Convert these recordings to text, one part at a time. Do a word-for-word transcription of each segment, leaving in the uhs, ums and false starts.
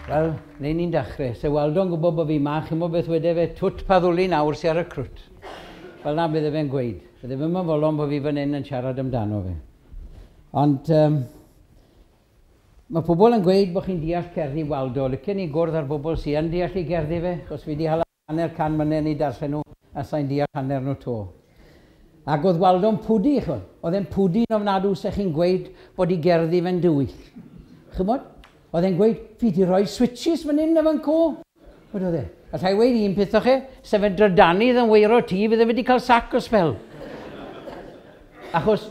Wel, neu ni'n dechrau. Se Waldo'n gwybod bod fi ma, chi'n gwybod beth wede fe, twt pa ddwli nawr sy ar y crwt. Fel na bydde fe'n gweud. Bydde fe'n fodlon bod fi fan hyn yn siarad amdano fe. Ond um, mae pobl yn gweud bod chi'n deall cerddi Waldo. Licen i gwrdd ar bobl sy'n yn deall i gerddi fe, achos fi wedi hala hanner can mlynedd i darllen nhw, a sa'n deall hanner nhw to. Ac oedd Waldo'n pwdu, ch'mod. Oedd e'n pwdu'n ofnadw se chi'n gweud bod i gerddi fe'n dywyll. Ch'mod? Oedd e'n gweud, fi di rhoi switches fan hyn a fan co. Wedodd e. Alla i weud un peth o chi, sef e'n drydanydd yn weiro tŷ, fydde fe wedi cael sac o sbel. Achos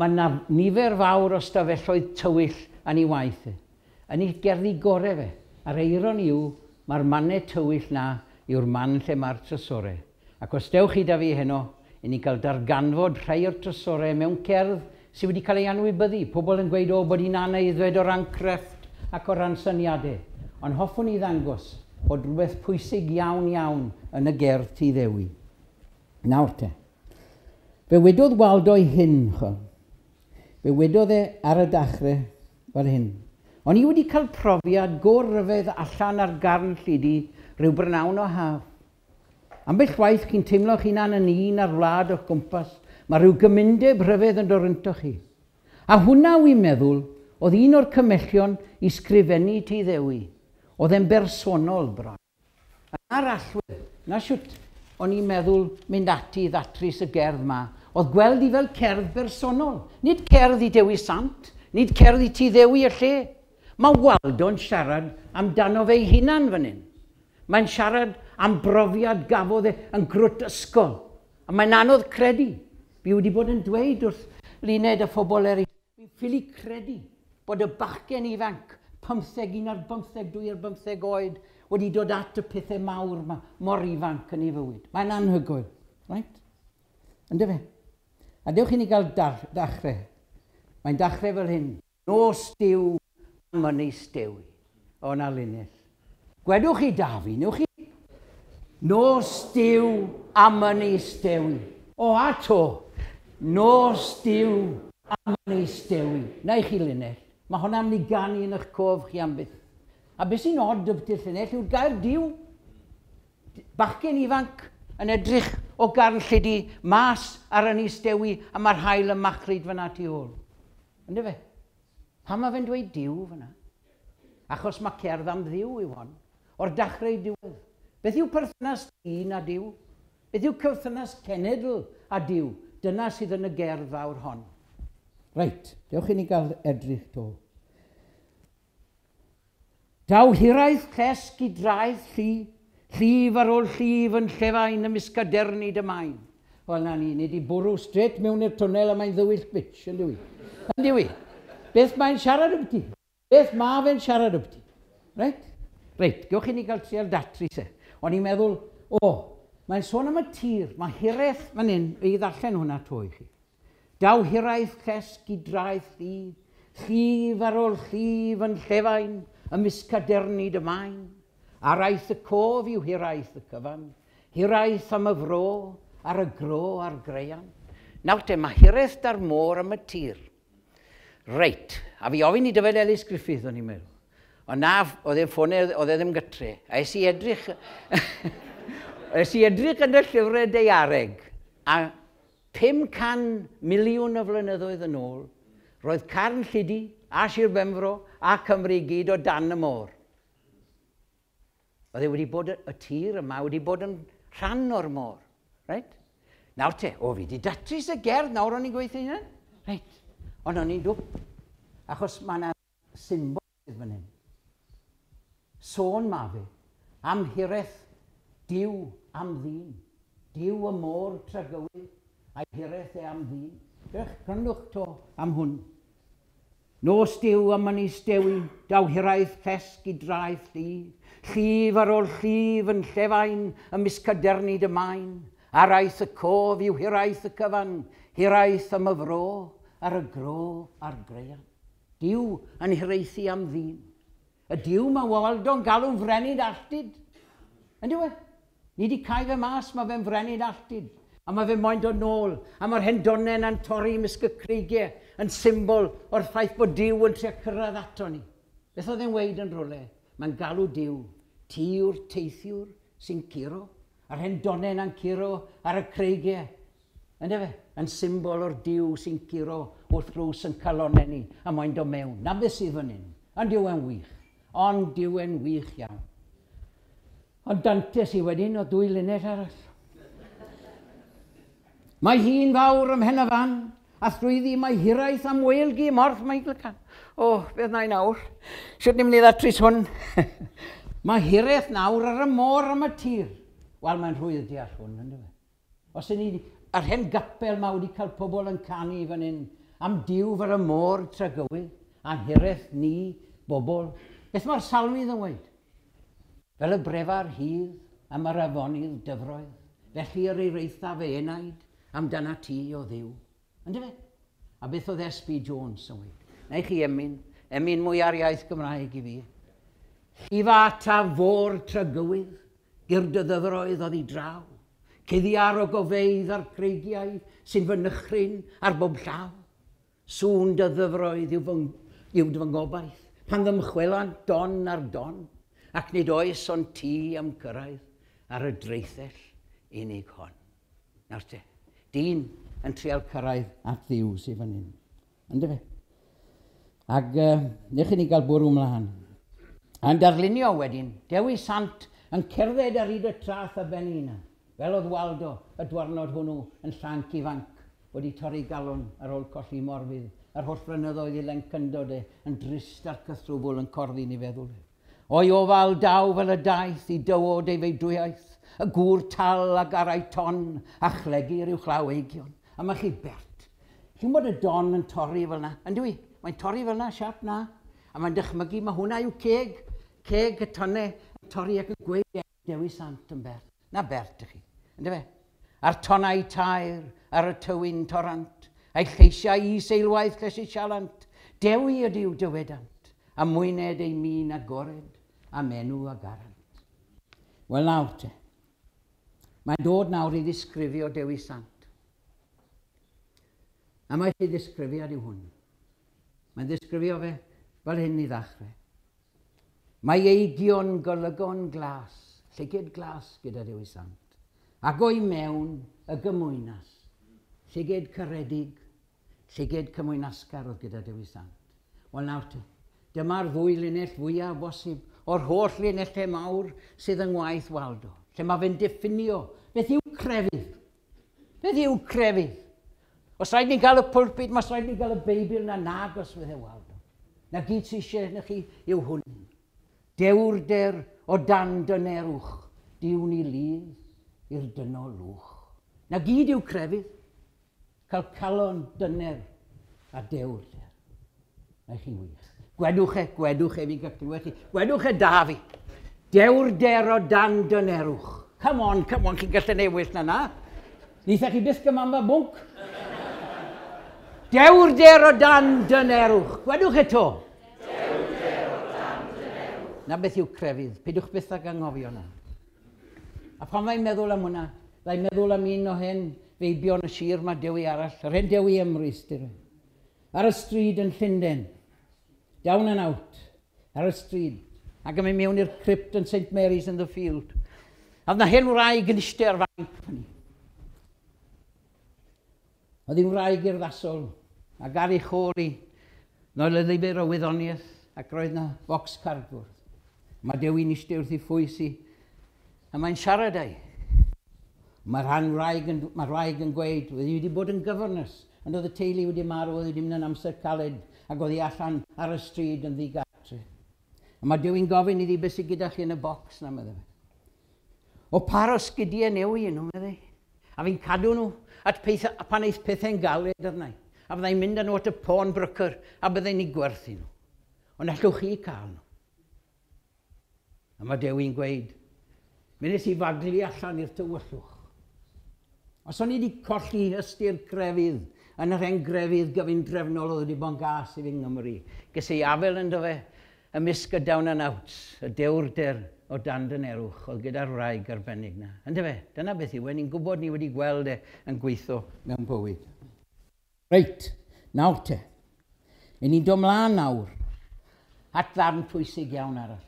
mae yna nifer fawr o stafelloedd tywyll yn ei waith e. Yn ei gerddi gorau fe. A'r eironi yw, mae'r mannau tywyll na yw'r man lle mae'r trysorau. Ac os dewch chi da fi heno, i ni gael darganfod rhai o'r trysorau mewn cerdd sydd wedi cael ei anwybyddu. Pobl yn gweud, o, bod hi'n anaeddfed o ran crefft ac o ran syniadau. Ond hoffwn i ddangos bod rhywbeth pwysig iawn iawn yn y gerdd Tŷ Ddewi. Nawr te. Fe wedodd Waldo i hyn, ch'o. Fe wedodd e ar y dachrau fel hyn. O'n i wedi cael profiad go ryfedd allan ar Garn Llidi rhyw brynawn o haf. Ambell waith chi'n teimlo'ch hunan yn un ar wlad o'ch gwmpas, mae rhyw gymundeb rhyfedd yn dod rynto chi. A hwnna wy'n meddwl oedd un o'r cymellion i sgrifennu Tŷ Ddewi. Oedd e'n bersonol bron. A'r allwedd, na siwt o'n i'n meddwl mynd ati i ddatrys y gerdd ma, oedd gweld i fel cerdd bersonol. Nid cerdd i Dewi Sant, nid cerdd i Tŷ Ddewi y lle. Mae Waldo'n siarad amdano fe'i hunan fan hyn. Mae'n siarad am brofiad gafodd e yn grwt ysgol. A mae'n anodd credu. Fi wedi bod yn dweud wrth Luned a phobl eraill, fi'n ffili credu bod y bachgen ifanc, pymtheg, un ar bymtheg, dwy ar bymtheg oed, wedi dod at y pethau mawr ma, mor ifanc yn ei fywyd. Mae'n anhygoel, right? Yndyfe? A dewch i ni gael dachrau. Mae'n dachrau fel hyn. Nos Duw am Ynys Dewi. O, na linell. Gwedwch chi da fi, newch chi? Nos Duw am Ynys Dewi. O, a to. Nos Duw am Ynys Dewi. Na i chi linell. Mae hwnna'n mynd i ganu yn eich cof chi am byth. A beth sy'n od ydy'r llinell yw'r gair Duw. Bachgen ifanc yn edrych o Garn Llidi mas ar Ynys Dewi a mae'r haul yn machlud fyna tu ôl. Yndyfe? Pam mae fe'n dweud Duw fyna? Achos mae cerdd am Dduw yw hon. O'r dachrau i diwedd. Beth yw perthynas dyn a Duw? Beth yw perthynas cenedl a Duw? Dyna sydd yn y gerdd fawr hon. Reit, dewch i ni gael edrych to. Daw hiraeth llesg i draeth lli, llif ar ôl llif yn llefain ymysg cadernid y main. Wel na ni, ni wedi bwrw straight mewn i'r twnnel a mae'n ddywyll bitch, yn dywi. Yn dywi. Beth mae'n siarad ambyti? Beth mae fe'n siarad ambyti? Reit? Reit, gewch i ni gael trial datrys e. O'n i'n meddwl, o, mae'n sôn am y tir, mae hiraeth fan hyn, i ddarllen hwnna to i chi. Daw hiraeth llesg i draeth lli, llif ar ôl llif yn llefain, ymysg cadernid y main. Araith y cof yw hiraeth y cyfan, hiraeth am y fro, ar y gro a'r graean. Nawr te, mae hiraeth da'r môr am y tir. Reit, a fi ofyn i Dyfed Ellis Griffith, o'n i'n meddwl. Ond na, oedd e'n ffonau, oedd e ddim gytre. A es i edrych, es i edrych yn y llyfrau daeareg, a pum can miliwn o flynyddoedd yn ôl, roedd Carn Llidi a Sir Benfro a Cymru i gyd o dan y môr. Oedd e wedi bod, y tir yma wedi bod yn rhan o'r môr. Reit? Nawr te, o fi wedi datrys y gerdd, nawr o'n i'n gweithio hynna. Reit, ond o'n i'n dwp, achos mae yna symbol fan hyn. Sôn ma fe am hiraeth Duw am ddyn. Duw y môr tragywydd, a'i hiraeth e am ddyn. Dewch, gwrandwch to am hwn. Nos Duw am Ynys Dewi, daw hiraeth llesg i draeth lli, llif ar ôl llif yn llefain, ymysg cadernid y main, araith y cof yw hiraeth y cyfan, hiraeth am y fro, ar y gro a'r graean. Duw yn hiraethu am ddyn. Y Duw mae Waldo'n galw'n frenin alltid. Yn dyw e? Ni wedi cael fe mas, mae fe'n frenin alltid. A mae fe moyn dod nôl. A mae'r hendonau yna'n torri ymysg y creigiau yn symbol o'r ffaith bod Duw yn trio cyrraedd ato ni. Beth oedd e'n weud yn rhywle? Mae'n galw Duw. Ti yw'r teithiwr sy'n curo. A'r hen donen yn curo ar y creigiau. Ynde fe? Yn symbol o'r Duw sy'n curo wrth drws yn calonau ni a mae'n dod mewn. Na beth sydd fan hyn. Ond dyw e'n wych. Ond dyw e'n wych iawn. Ond Dante sydd wedyn o dwy linell arall. Mae hi'n fawr ym mhen y fan, a thrwyddi mae hiraeth am weilgi morth Meiglycan. O, oh, beth na i nawr? Sut ni'n mynd i ddatrys hwn? Mae hiraeth nawr ar y môr am y tir. Wel, mae'n rhwydd deall hwn, ynddo fe? Os y'n ni, yr hen gapel ma wedi cael pobl yn canu fan hyn, am Duw fel y môr tragywydd, a'n hiraeth ni, bobl. Beth mae'r salmydd yn weud? Fel y brefa'r hydd am yr afonydd dyfroedd, felly yr eiraetha fe enaid, amdana ti o Dduw. Yndyfe? A beth oedd S B Jones yn weud? Na i chi emyn, emyn mwy ar iaith Gymraeg i fi. Llifa ta fôr tragywydd, gyr dy ddyfroedd oddi draw, cuddiar o gofeidd a'r creigiau sy'n fy nychryn ar bob llaw. Sŵn dy ddyfroedd yw fy, yw fy ngobaith, pan ddymchwelant don ar don, ac nid oes ond ti am cyrraedd ar y draethell unig hon. Nawr te, dyn yn trial cyrraedd at Dduw sydd fan hyn. Yndyfe? Ac uh, newch i ni gael bwrw mlaen. A'n darlunio wedyn, Dewi Sant yn cerdded ar hyd y traeth a ben ei hunan, fel oedd Waldo y dwarnod hwnnw yn llanc ifanc, wedi torri galon ar ôl colli Morfudd, a'r holl flynyddoedd i lencyndod e, yn drist a'r cythrwbwl yn corddi ni feddwl. O'i ofal daw fel y daeth i dywod ei feidwyaeth, y gŵr tal ag arau ton a chlegir i'w chlaw eigion. A mae chi bert. Chi'n bod y don yn torri fel na? Yndw i? Mae'n torri fel na, siap na. A mae'n dychmygu, mae hwnna yw ceg. Ceg y tonnau yn torri ac yn gweud Dewi Sant yn bert. Na bert ych chi. Yndw fe? A'r tonnau tair ar y tywyn torant, a'i lleisiau i seilwaith llesi sialant. Dewi ydyw dywedant, a mwyned ei min agored, a menw a garant. Wel nawr te. Mae'n dod nawr i ddisgrifio Dewi Sant. A mae ei ddisgrifiad yw hwn. Mae'n ddisgrifio fe fel hyn i ddechrau. Mae eigion golygon glas, llygid glas gyda Dewi Sant, ac o'i mewn y gymwynas, llygid caredig, llygid cymwynasgar oedd gyda Dewi Sant. Wel nawr te, dyma'r ddwy linell fwyaf bosib o'r holl linellau mawr sydd yng ngwaith Waldo, lle mae fe'n diffinio beth yw crefydd. Beth yw crefydd? Os rhaid ni gael y pulpit, mas rhaid ni gael y Beibl na nagos fydde Waldo. Na gyd sydd eisiau na chi yw hwn. Dewrder o dan dynerwch, diwn ni lydd i'r dynol lwch. Na gyd yw crefydd. Cael calon dyner a dewrder. Na chi'n wych. Gwedwch e, gwedwch e, fi'n gael chi. Gwedwch e da fi. Dewrder o dan dynerwch. Come on, come on, chi'n gallu newid na na. Nitha chi byth gymanfa bwnc. Dewrder o dan dynerwch. Gwedwch eto. Dewrder o dan dynerwch. Na beth yw crefydd. Peidiwch byth ag anghofio na. A pan mae'n meddwl am hwnna, mae'n meddwl am un o hen feibion y sir mae Dewi arall, yr hen Dewi Emrys, dyr. Ar y stryd yn Llundain. Down and out. Ar y stryd. Ac yn mynd mewn i'r crypt yn Saint Mary's in the Field. A oedd na hen wraig yn eistedd ar fanc fyny. Oedd hi'n wraig urddasol, ac ar ei chôl hi, noel y lyfr o wyddoniaeth, ac roedd na bocs cardfwrdd. Mae Dewi'n eistedd wrth ei phwys hi, a mae'n siarad â'i. Mae'r rhan wraig yn, mae'r wraig yn gweud, oedd hi wedi bod yn governess, ond oedd y teulu wedi marw, oedd wedi mynd yn amser caled, ac oedd hi allan ar y stryd yn ddigartre. A mae Dewi'n gofyn iddi beth sydd gyda chi yn y bocs na, meddai fe. O par o sgidiau newydd nhw, meddai. A fi'n cadw nhw at peitha, pan eith pethau'n galed arna i. A fyddai'n mynd â nhw at y pawnbroker a byddai'n ei gwerthu nhw. Ond allwch chi cael nhw. A mae Dewi'n gweud, mi nes i faglu allan i'r tywyllwch. Os o'n i wedi colli ystyr crefydd, yn yr hen grefydd gyfundrefnol oedd wedi bod yn gas i fi yng Nghymru, ges i afel ynddo fe ymysg y down and outs, y dewrder o dan dynerwch oedd gyda'r wraig arbennig na. Yndyfe fe? Dyna beth yw e, ni'n gwybod ni wedi gweld e yn gweithio mewn bywyd. Reit, nawr te. I ni'n dod mlaen nawr at ddarn pwysig iawn arall.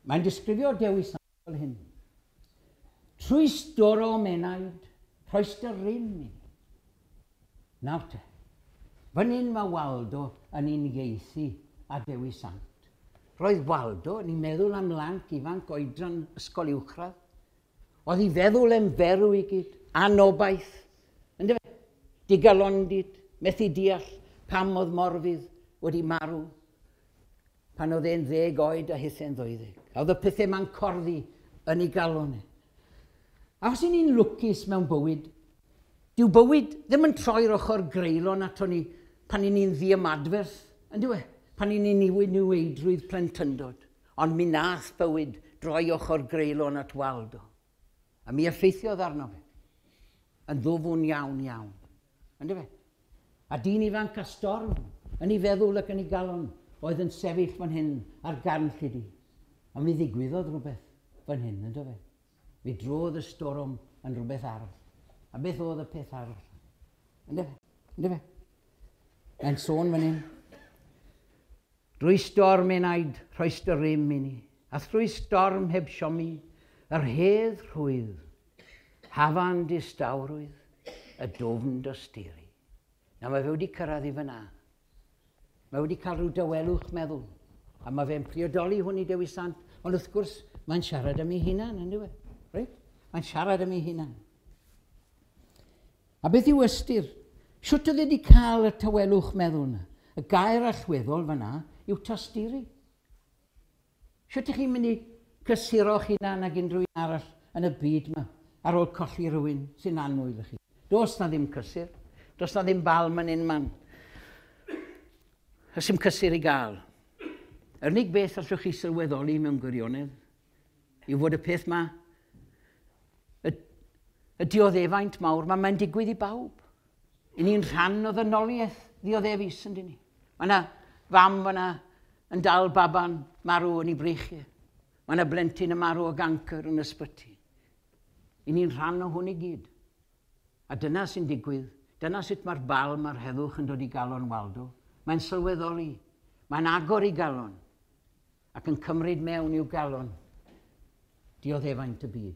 Mae'n disgrifio Dewi Sant fel hyn. Trwy storom enaid, rhoes dy rym i ni. Nawr te, fan hyn mae Waldo yn uniaethu a Dewi Sant. Roedd Waldo yn ei meddwl am lanc ifanc oedran ysgol uwchradd. Oedd ei feddwl yn ferw i gyd, anobaith, yndyfe? Digalondid, methu deall pam oedd Morfudd wedi marw pan oedd e'n ddeg oed a hithe'n ddeuddeg. A oedd y pethau ma'n corddi yn ei galon e. A os y'n ni'n lwcus mewn bywyd, dyw bywyd ddim yn troi'r ochr greulon ato ni pan y'n ni'n ddiymadferth, yndyw e? Pan y'n ni'n niwyd niweidrwydd plentyndod. Ond mi nath bywyd droi ochr greulon at Waldo. A mi effeithiodd arno fe. Yn ddwfwn iawn iawn. Yndyfe? A dyn ifanc a storm yn ei feddwl ac yn ei galon oedd yn sefyll fan hyn ar Garn Llidi. A mi ddigwyddodd rhywbeth fan hyn, yndyfe? Mi drodd y storm yn rhywbeth arall. A beth oedd y peth arall? Yndyfe? Yndyfe? Mae'n sôn fan hyn. Drwy storm enaid, rhoes dy rym i ni, a thrwy storm heb siomi, yr hedd rhwydd, hafan distawrwydd, y dwfn dosturi. Na, mae fe wedi cyrraedd i fyna. Mae wedi cael rhyw dawelwch meddwl. A mae fe'n priodoli hwn i Dewi Sant, ond wrth gwrs, mae'n siarad am ei hunan, yndyw e? Reit? Mae'n siarad am ei hunan. A beth yw ystyr? Shwt oedd wedi cael y tawelwch meddwl yna? Y gair allweddol fyna yw tosturi. Shwt ych chi'n mynd i cysuro'ch hunan ag unrhyw un arall yn y byd yma ar ôl colli rhywun sy'n annwyl i chi? Does na ddim cysur. Does na ddim balm yn unman. Does dim cysur i gael. Yr unig beth allwch chi sylweddoli mewn gwirionedd yw fod y peth ma, y, y dioddefaint mawr, ma, mae'n digwydd i bawb. I ni'n rhan o ddynoliaeth ddioddefus, yndyn ni? Mae yna fam fyna yn dal baban marw yn ei breichiau. Mae yna blentyn yn marw o gancr yn ysbyty. I ni'n rhan o hwn i gyd. A dyna sy'n digwydd. Dyna sut mae'r balm a'r heddwch yn dod i galon Waldo. Mae'n sylweddoli. Mae'n agor i galon. Ac yn cymryd mewn i'w galon dioddefaint y byd.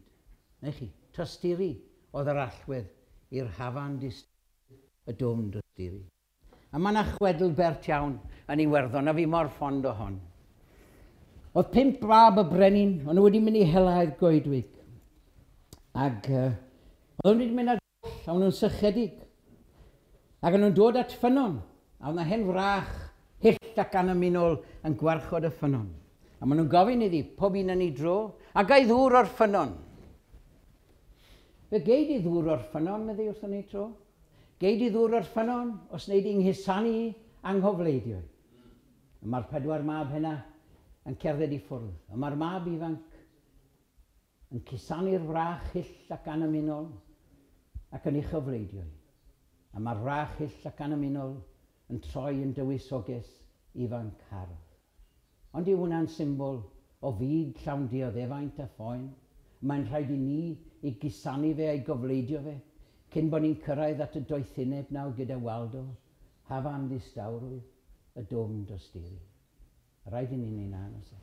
Neu chi, tosturi oedd yr allwedd i'r hafan disturi, y dwfn dosturi. A mae yna chwedl bert iawn yn Iwerddon, a fi mor ffond o hon. Oedd pump mab y brenin, o'n nhw wedi mynd i hela i'r goedwig. Ac uh, oedd nhw wedi mynd ar goll, a o'n nhw'n sychedig. Ac o'n nhw'n dod at ffynnon, a oedd yna hen wrach hyll ac annymunol yn gwarchod y ffynnon. A maen nhw'n gofyn iddi, pob un yn ei dro, a gai ddŵr o'r ffynnon. Fe gei di ddŵr o'r ffynnon, meddi wrth yn ei tro. Gei di ddŵr o'r ffynnon os wnei di nghusanu anghofleidio. A mae'r pedwar mab hynna yn cerdded i ffwrdd. A mae'r mab ifanc yn cusanu'r wrach hyll ac annymunol ac yn ei chyfleidio. A mae'r wrach hyll ac annymunol yn troi yn dywysoges ifanc hardd. Ond yw hwnna'n symbol o fyd llawn dioddefaint a phoen? Mae'n rhaid i ni i gusanu fe a'i gofleidio fe, cyn bod ni'n cyrraedd at y doethineb nawr gyda Waldo, hafan ddistawrwydd, y dwfn dosturi. Rhaid i ni wneud na, oes e?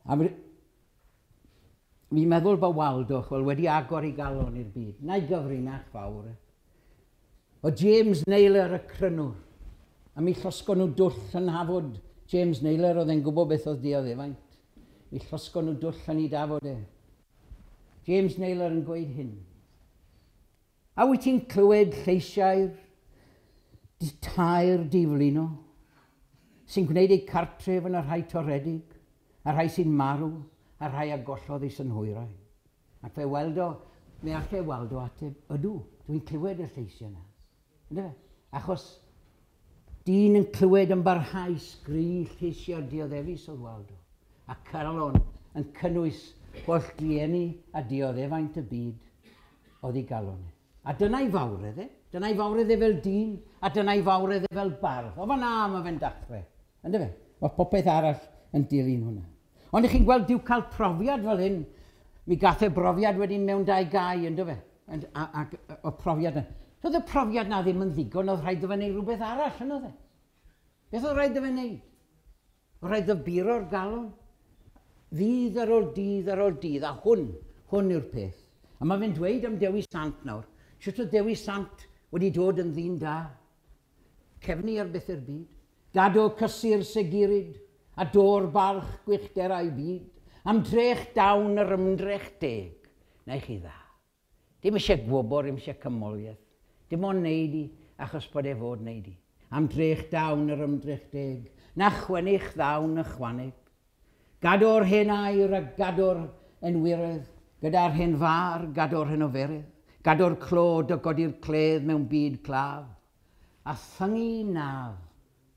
A fi'n meddwl bod Waldo, chwel, wedi agor ei galon i'r byd. Na'i gyfrinach fawr. O James Naylor y crynwr. A mi llosgon nhw dwll yn hafod. James Naylor oedd e'n gwybod beth oedd dioddefaint. Mi llosgon nhw dwll yn ei dafod e. James Naylor yn gweud hyn. A wyt ti'n clywed lleisiau'r tair diflino sy'n gwneud eu cartref yn y rhai toredig, a rhai sy'n marw, a rhai a gollodd eu synhwyrau. Ac fe weld o, mi allai weld o ateb, ydw, dwi'n clywed y lleisiau yna. Yndyfe? Achos dyn yn clywed yn barhaus gri lleisiau'r dioddefus oedd Waldo, a calon yn cynnwys holl drueni a dioddefaint y byd oedd ei galon. A dyna'i fawredd e, dyna'i fawredd e fel dyn, a dyna'i fawredd e fel bardd. O fan'na mae fe'n dechrau, yndyfe? Mae popeth arall yn dilyn hwnna. Ond ych chi'n gweld dyw cael profiad fel hyn, mi gath e brofiad wedyn mewn dau gau, yndyfe? Ac o profiad yna. Doedd y profiad na ddim yn ddigon, oedd rhaid iddo fe wneud rhywbeth arall, yn oedd e? Beth oedd rhaid iddo fe wneud? Oedd rhaid ddyburo'r galon. Ddydd ar ôl dydd ar ôl dydd, a hwn, hwn yw'r peth. A mae fe'n dweud am Dewi Sant nawr. Sut oedd Dewi Sant wedi dod yn ddyn da? Cefnu ar beth i'r byd. Gado cysur seguryd, a dôr balch gwychderau byd. Am drech dawn yr ymdrech deg. Na i chi dda. Dim eisiau gwobr, dim eisiau cymoliaeth. Dim ond neud i, achos bod e fod neud i. Am drech dawn yr ymdrech deg. Na chwennych ddawn y chwaneg. Gado'r hen air a gado'r enwyredd, gyda'r hen far, gado'r hen oferydd, gado'r clod o godi'r cledd mewn byd claf, a thyngu naf,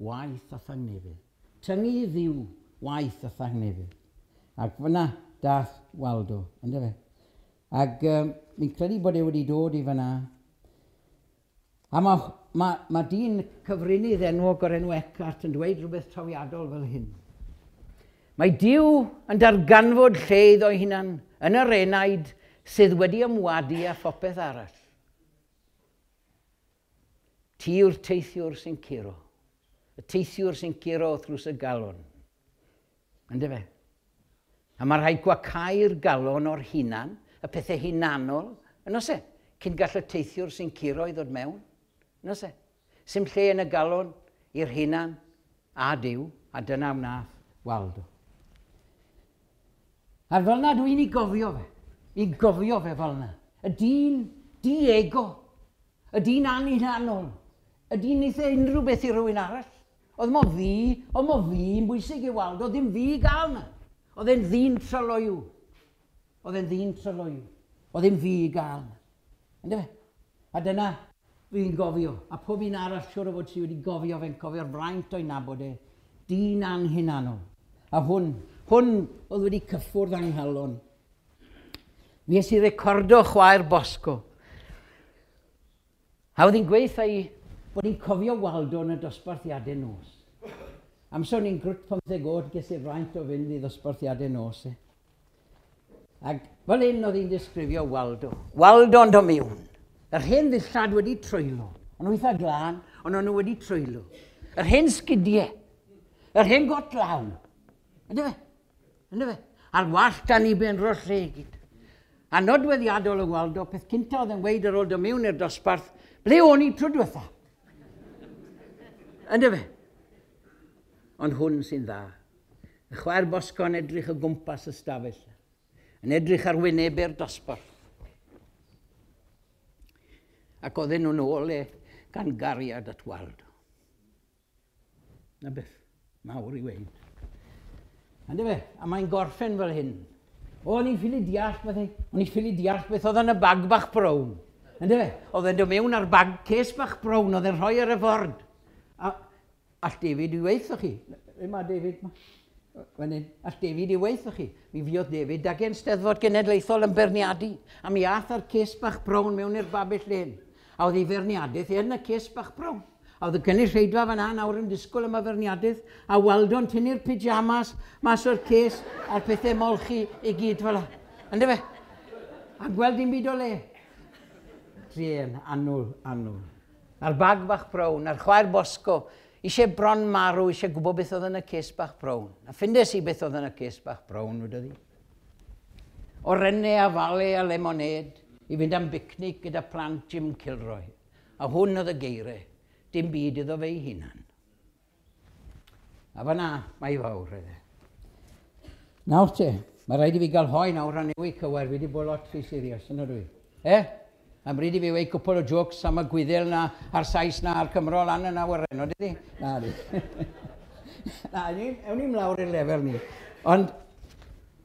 waith a thangnefydd. Tyngu ddiw, waith a thangnefydd. Ac fyna dath Waldo, yndyfe? Ac um, mi'n credu bod e wedi dod i fyna. A mae ma, ma dyn cyfrinydd enwog o'r enw Eckhart yn dweud rhywbeth trawiadol fel hyn. Mae Duw yn darganfod lle iddo'i hunan yn yr enaid sydd wedi ymwadu â phopeth arall. Ti yw'r teithiwr sy'n curo. Y teithiwr sy'n curo wrth drws y galon. Yndyfe? A mae rhaid gwacau'r galon o'r hunan, y pethau hunanol, yn oes e? Cyn gall y teithiwr sy'n curo i ddod mewn, yn oes e? Sim lle yn y galon i'r hunan a Duw, a dyna wnaeth Waldo. A fel na dwi'n ei gofio fe, i gofio fe fel na. Y dyn di-ego, y dyn anhunanol, y dyn wnaeth e unrhyw beth i rywun arall. Oedd mo fi, oedd mo fi yn bwysig i Waldo, oedd ddim fi gael na. Oedd e'n ddyn tryloyw. Oedd e'n ddyn tryloyw. Oedd ddim fi gael na. Yndyfe? A dyna fi'n gofio, a pob un arall siŵr o fod sydd wedi gofio fe'n cofio'r fraint o'i nabod e, dyn anhunanol. A hwn, hwn oedd wedi cyffwrdd anghalon. Mi es i recordo chwaer Bosco. A oedd hi'n gweithio i bod hi'n cofio Waldo yn y dosbarthiadau nos. Amser o'n i'n grwt pymtheg oed, ges i'r fraint o fynd i ddosbarthiadau nos. E. Ac fel hyn oedd hi'n disgrifio Waldo. Waldo'n dod mewn. Yr hen ddillad wedi troello. O'n nhw eitha glân, ond o'n nhw wedi troello. Yr hen sgidiau. Yr hen got law. Yndyfe? Yndyfe? A'r wallt dan i ben roll lle i gyd. A nodweddiadol y Waldo, peth cynta oedd yn gweud ar ôl dod mewn i'r dosbarth, ble o'n i tro diwetha? Yndyfe? Ond hwn sy'n dda. Y chwaer Bosco yn edrych o gwmpas y stafell. Yn edrych ar wynebau'r dosbarth. Ac oedden nhw'n ôl e gan gariad at Waldo. Na beth mawr i weud. Yndyfe? A mae'n gorffen fel hyn. O, o'n i'n ffili deall beth, o'n i'n ffili deall beth oedd yn y bag bach brown. Yndyfe? Oedd e'n dod mewn ar bag ces bach brown, oedd e'n rhoi ar y ford. A all David i weithio chi. Le mae David? Fan hyn. All David i weithio chi. Mi fuodd David ag e'n Steddfod Genedlaethol yn beirniadu. A mi ath ar ces bach brown mewn i'r babell lên. A oedd ei feirniadaeth yn y ces bach brown. A oedd y gynulleidfa fan'na nawr yn disgwyl am y feirniadaeth, a Waldo'n tynnu'r pyjamas mas o'r ces a'r pethau molchi i gyd fel 'na. Yndyfe? A gweld dim byd o le. Druan, annwl, annwl. A'r bag bach brown, a'r chwaer Bosco, eisiau bron marw, eisiau gwybod beth oedd yn y ces bach brown. A ffindes i beth oedd yn y ces bach brown, wedodd hi. Orenne a fale a lemonade i fynd am bicnic gyda plant Jim Kilroy. A hwn oedd y geiriau. Dim byd iddo fe'i hunan. A fan'na, mae fawr iddo. Nawr te, mae rhaid i fi gael hoe nawr a newid cywair, fi wedi bod lot rhy serious, yn ydw i. E? Am bryd i fi weud cwpl o jokes am y Gwyddel na, a'r Sais na, a'r Cymro lan yn awyren, o dydi? Na, di. Na, ewn ni'n lawr i'r lefel ni. Ond,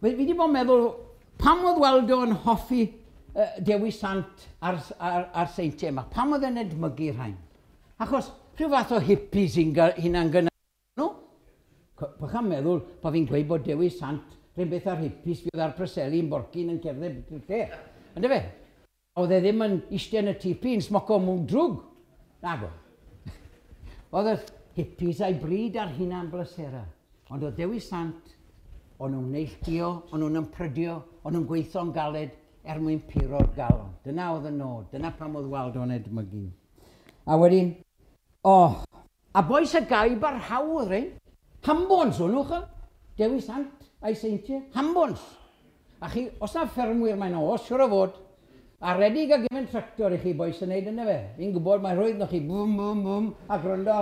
fi wedi bod yn meddwl, pam oedd Waldo yn hoffi uh, Dewi Sant a'r, ar, ar seintiau yma? Pam oedd e'n edmygu rhain? Achos rhyw fath o hippies sy'n hunan gyda nhw. Bych am meddwl bod fi'n gweud bod Dewi Sant rhywun beth ar hippies fi oedd ar Preseli yn Borcyn yn cerdded beth lle. Yndyfe? Oedd e ddim yn eistedd yn y tipi yn smoco mwg drwg. Nago. Oedd y hippies a'i bryd ar hunan blesera. Ond oedd Dewi Sant, o'n nhw'n neilltuo, o'n nhw'n ymprydio, o'n nhw'n gweithio'n galed er mwyn puro'r galon. Dyna oedd y nod, dyna pam oedd Waldo'n edmygu. A wedyn, o, oh, a bois y gaib ar hawdd, rhain. Hambons o'n nhw, ch'o? Dewi Sant a'i seintiau, hambons. A chi, os na ffermwyr mae'n oes, siwr o fod, a redig a gefen tractor i chi bois yn neud yna fe. Fi'n gwybod mae rhwydd na chi, bwm, bwm, bwm, a gwrando,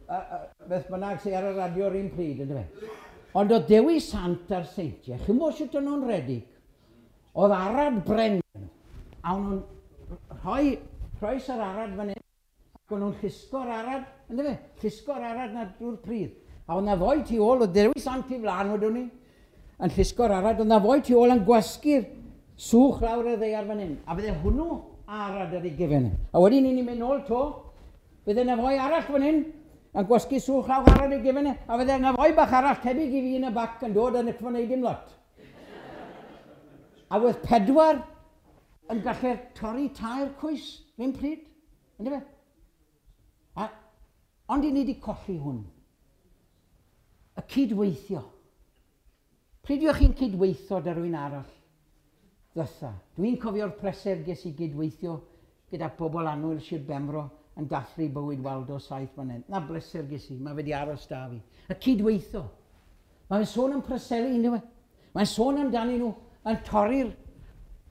a, a, beth bynnag sydd ar y radio'r un pryd, yna fe. Ond oedd Dewi Sant a'r seintiau, chi'n gwybod sut o'n nhw'n redig? Oedd arad bren, a o'n nhw'n rhoi croes yr arad fan hyn, ac o'n nhw'n llusgo'r arad, yna fe, llusgo'r arad na drwy'r pridd. A oedd na foi tu ôl, oedd Dewi Sant i flaen wedwn ni, yn llusgo'r arad, oedd na foi tu ôl yn gwasgu'r swch lawr y ddaear fan hyn. A bydde hwnnw arad ar ei gefen. A wedyn ni'n mynd nôl to, bydde na foi arall fan hyn, yn gwasgu swch lawr arad ei gefen, a bydde na foi bach arall tebyg i fi yn y bac yn dod yn y wneud dim lot. A wedd pedwar yn gallu torri tair cwys, rhywun pryd, ynddo fe? A, ond i ni wedi colli hwn. Y cydweithio. Pryd yw'ch chi'n cydweithio da rhywun arall? Ddytha. Dwi'n cofio'r pleser ges i gydweithio gyda pobl annwyl Sir Benfro yn dathlu bywyd Waldo saith mlynedd. Na bleser ges i, mae wedi aros da fi. Y cydweithio. Mae'n sôn am Preseli, ynddo fe? Mae'n sôn amdanyn nhw yn torri'r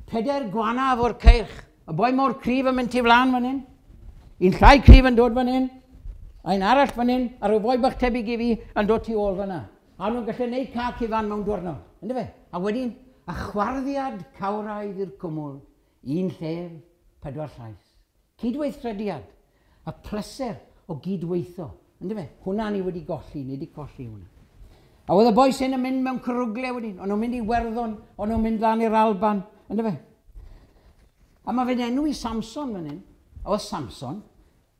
pedair gwanaf o'r ceirch. Y boi mor cryf yn mynd tu flaen fan hyn. Un llai cryf yn dod fan hyn. A un arall fan hyn, a rhyw foi bach tebyg i fi yn dod tu ôl fan'na. A nhw'n gallu gwneud cac i fan mewn diwrnod. Ynddo fe? A wedyn, a chwarddiad cawraidd i'r cwmwl, un llef, pedwar llais. Cydweithrediad, y pleser o gydweithio. Ynddo fe? Hwna ni wedi golli, ni wedi colli hwnna. A oedd y bois hyn yn mynd mewn cwrwgle wedyn, o'n nhw'n mynd i Werddon, o'n nhw'n mynd lan i'r Alban, ynddo fe? A mae fe'n enw i Samson fan hyn. A oedd Samson,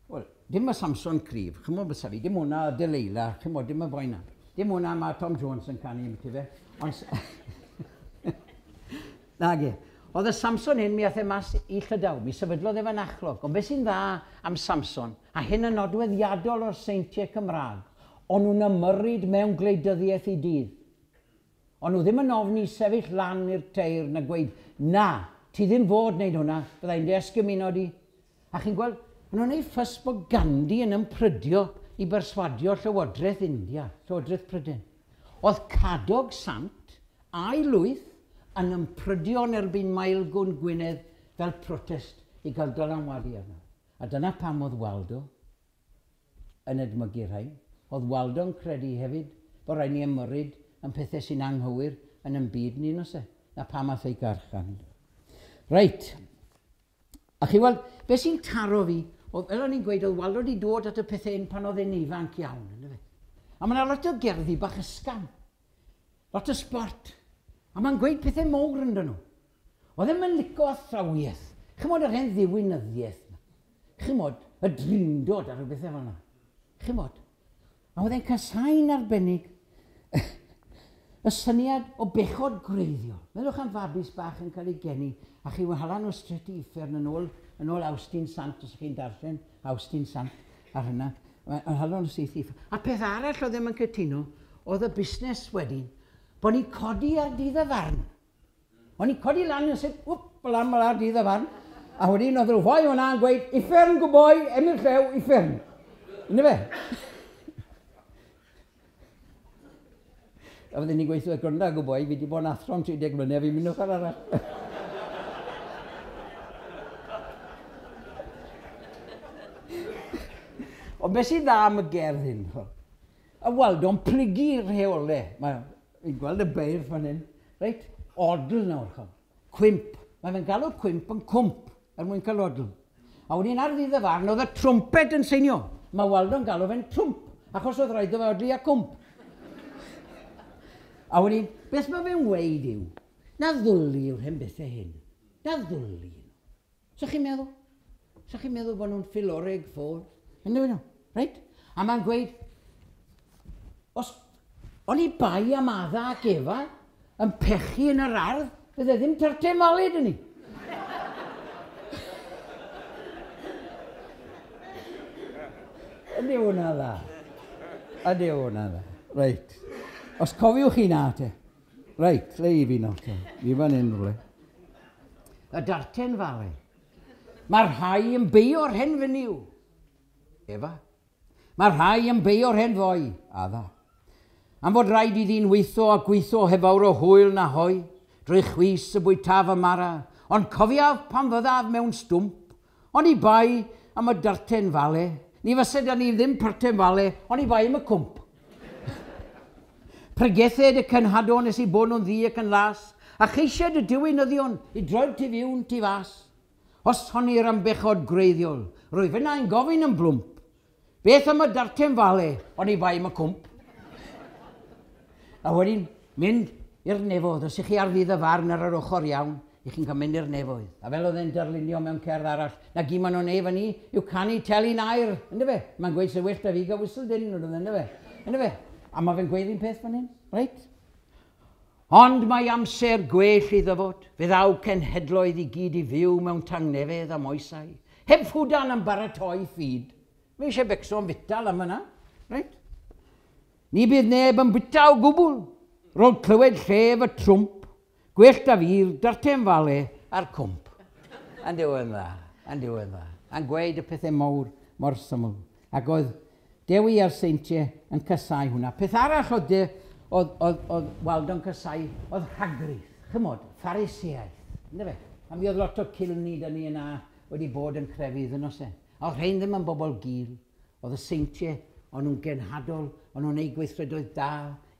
wel, dim y Samson cryf, chymod bysa fi, dim hwnna Delilah, chymod, dim y boi na. Dim hwnna mae Tom Jones yn canu ambyti fe. Ond... Nage. Oedd y Samson hyn, mi ath e mas i Llydaw, mi sefydlodd e fynachlog. Ond beth sy'n dda am Samson, a hyn yn nodweddiadol o'r seintiau Cymraeg, o'n nhw'n ymyrryd mewn gwleidyddiaeth i dydd. O'n nhw ddim yn ofni sefyll lan i'r teir na gweud, na, ti ddim fod wneud hwnna, byddai'n dy di. A chi'n gweld, maen nhw'n gwneud ffys bod Gandhi yn ymprydio i berswadio Llywodraeth India, Llywodraeth Prydain. Oedd Cadog Sant a'i lwyth yn ymprydio yn erbyn Maelgwn Gwynedd fel protest i gael dylanwadu arno. A dyna pam oedd Waldo yn edmygu rhain. Oedd Waldo'n credu hefyd bod rhaid ni ymyrryd yn pethau sy'n anghywir yn ein byd ni, nos e? Na pam ath ei garchan. Reit. A chi weld, beth sy'n taro fi, oedd, fel o'n i'n gweud, oedd Waldo wedi dod at y pethau hyn pan oedd e'n ifanc iawn. Yndyfe? A mae yna lot o gerddi bach ysgafn, lot o sport. A mae'n gweud pethau mowr ynddyn nhw. Oedd e'n yn licio athrawiaeth. Chymod yr hen ddiwinyddiaeth. Chymod y drindod a rhywbeth fel yna. Chymod. A oedd e'n casau'n arbennig y syniad o bechod gwreiddiol. Meddwch am fabis bach yn cael ei geni, a chi hala nhw straight i uffern yn ôl, yn ôl Awstin Sant, os chi'n darllen Awstin Sant ar hynna, yn hala nhw syth i uffern. A peth arall oedd ddim yn cytuno, oedd y busnes wedyn, bod ni'n codi ar dydd y farn. O'n i'n codi lan yn sut, wp, lan ar dydd y farn, a wedyn oedd rhyw foi hwnna yn gweud, uffern gwboi, Emyr Llew, uffern. Yna fe? A fydden ni'n gweithio gwrando gwboi, fi wedi bod yn athro am tri deg mlynedd, fi'n mynd ochr arall. Ond beth sy'n dda am y gerdd hyn? Y Waldo'n plygu rheolau. Mae, fi'n gweld y beirdd fan hyn. Reit? Odl nawr, chom. Cwymp. Mae fe'n galw cwymp yn cwmp, er mwyn cael odl. A wedyn ar ddydd y farn, oedd y trwmped yn seinio. Mae Waldo'n galw fe'n trwmp, achos oedd rhaid o fe odli a cwmp. A wedyn, beth mae fe'n weud yw, na ddwli yw'r hen bethau hyn. Na ddwli nhw. So chi'n meddwl? So chi'n meddwl bod nhw'n ffiloreg ffôl? Ynddo nhw, reit? A mae'n gweud, os o'n i bai am Adda ac Efa yn pechu yn yr ardd, fydde ddim tyrte malu dyn ni. Ydy hwnna dda. Ydy hwnna dda. Reit. Os cofiwch chi na te. Reit, le i fi nawr te. Fi fan hyn rhywle. Y darten fale. Mae rhai yn beio'r hen fenyw. Efa. Mae rhai yn beio'r hen foi. Adda. Am fod rhaid i ddyn weitho a gweitho heb fawr o hwyl na hoi, drwy chwys y bwytaf y mara, ond cofiaf pan fyddaf mewn stwmp, ond i bai am y darten fale, ni fysa da ni ddim parten fale, ond i bai am y cwmp. Pregethed y cenhadon nes i bod nhw'n ddu ac yn las, a cheisied y diwinyddion i droed tu fiwn tu fas. Os honnir am bechod gwreiddiol, rwyf yna yn gofyn yn blwmp. Beth am y darten fale, ond i bai am y cwmp. A wedyn mynd i'r nefoedd. Os ych chi ar ddydd y farn ar yr ochr iawn, ych chi'n cael mynd i'r nefoedd. A fel oedd e'n darlunio mewn cerdd arall, na gyd maen nhw'n neud fan ni yw canu telyn aur, ynddo fe? Mae'n gweud sy'n well da fi gael whistle dyn, ynddo fe? Ynddo fe? A mae fe'n gweud un peth fan hyn, reit? Ond mae amser gwell i ddyfod, fe ddaw cenhedloedd i gyd i fyw mewn tangnefedd am oesau. Heb ffwdan am baratoi ffid. Mae eisiau becso am futal am yna, reit? Ni bydd neb yn bwyta o gwbl, rôl clywed llef y trwmp, gwell da fi'r darten fale a'r cwmp. Yn diwedd dda, yn diwedd dda. A'n gweud y pethau mawr mor syml. Ac oedd Dewi a'r seintiau yn casau hwnna. Peth arall oedd, de, oedd, oedd, oedd Waldo'n casau, oedd rhagrith, chymod, Phariseaeth. Ynde fe? A mi oedd lot o cilni da ni yna wedi bod yn crefydd yn oes e. A oedd rhain ddim yn bobl gul. Oedd y seintiau, o'n nhw'n genhadol, o'n nhw'n neud gweithredoedd da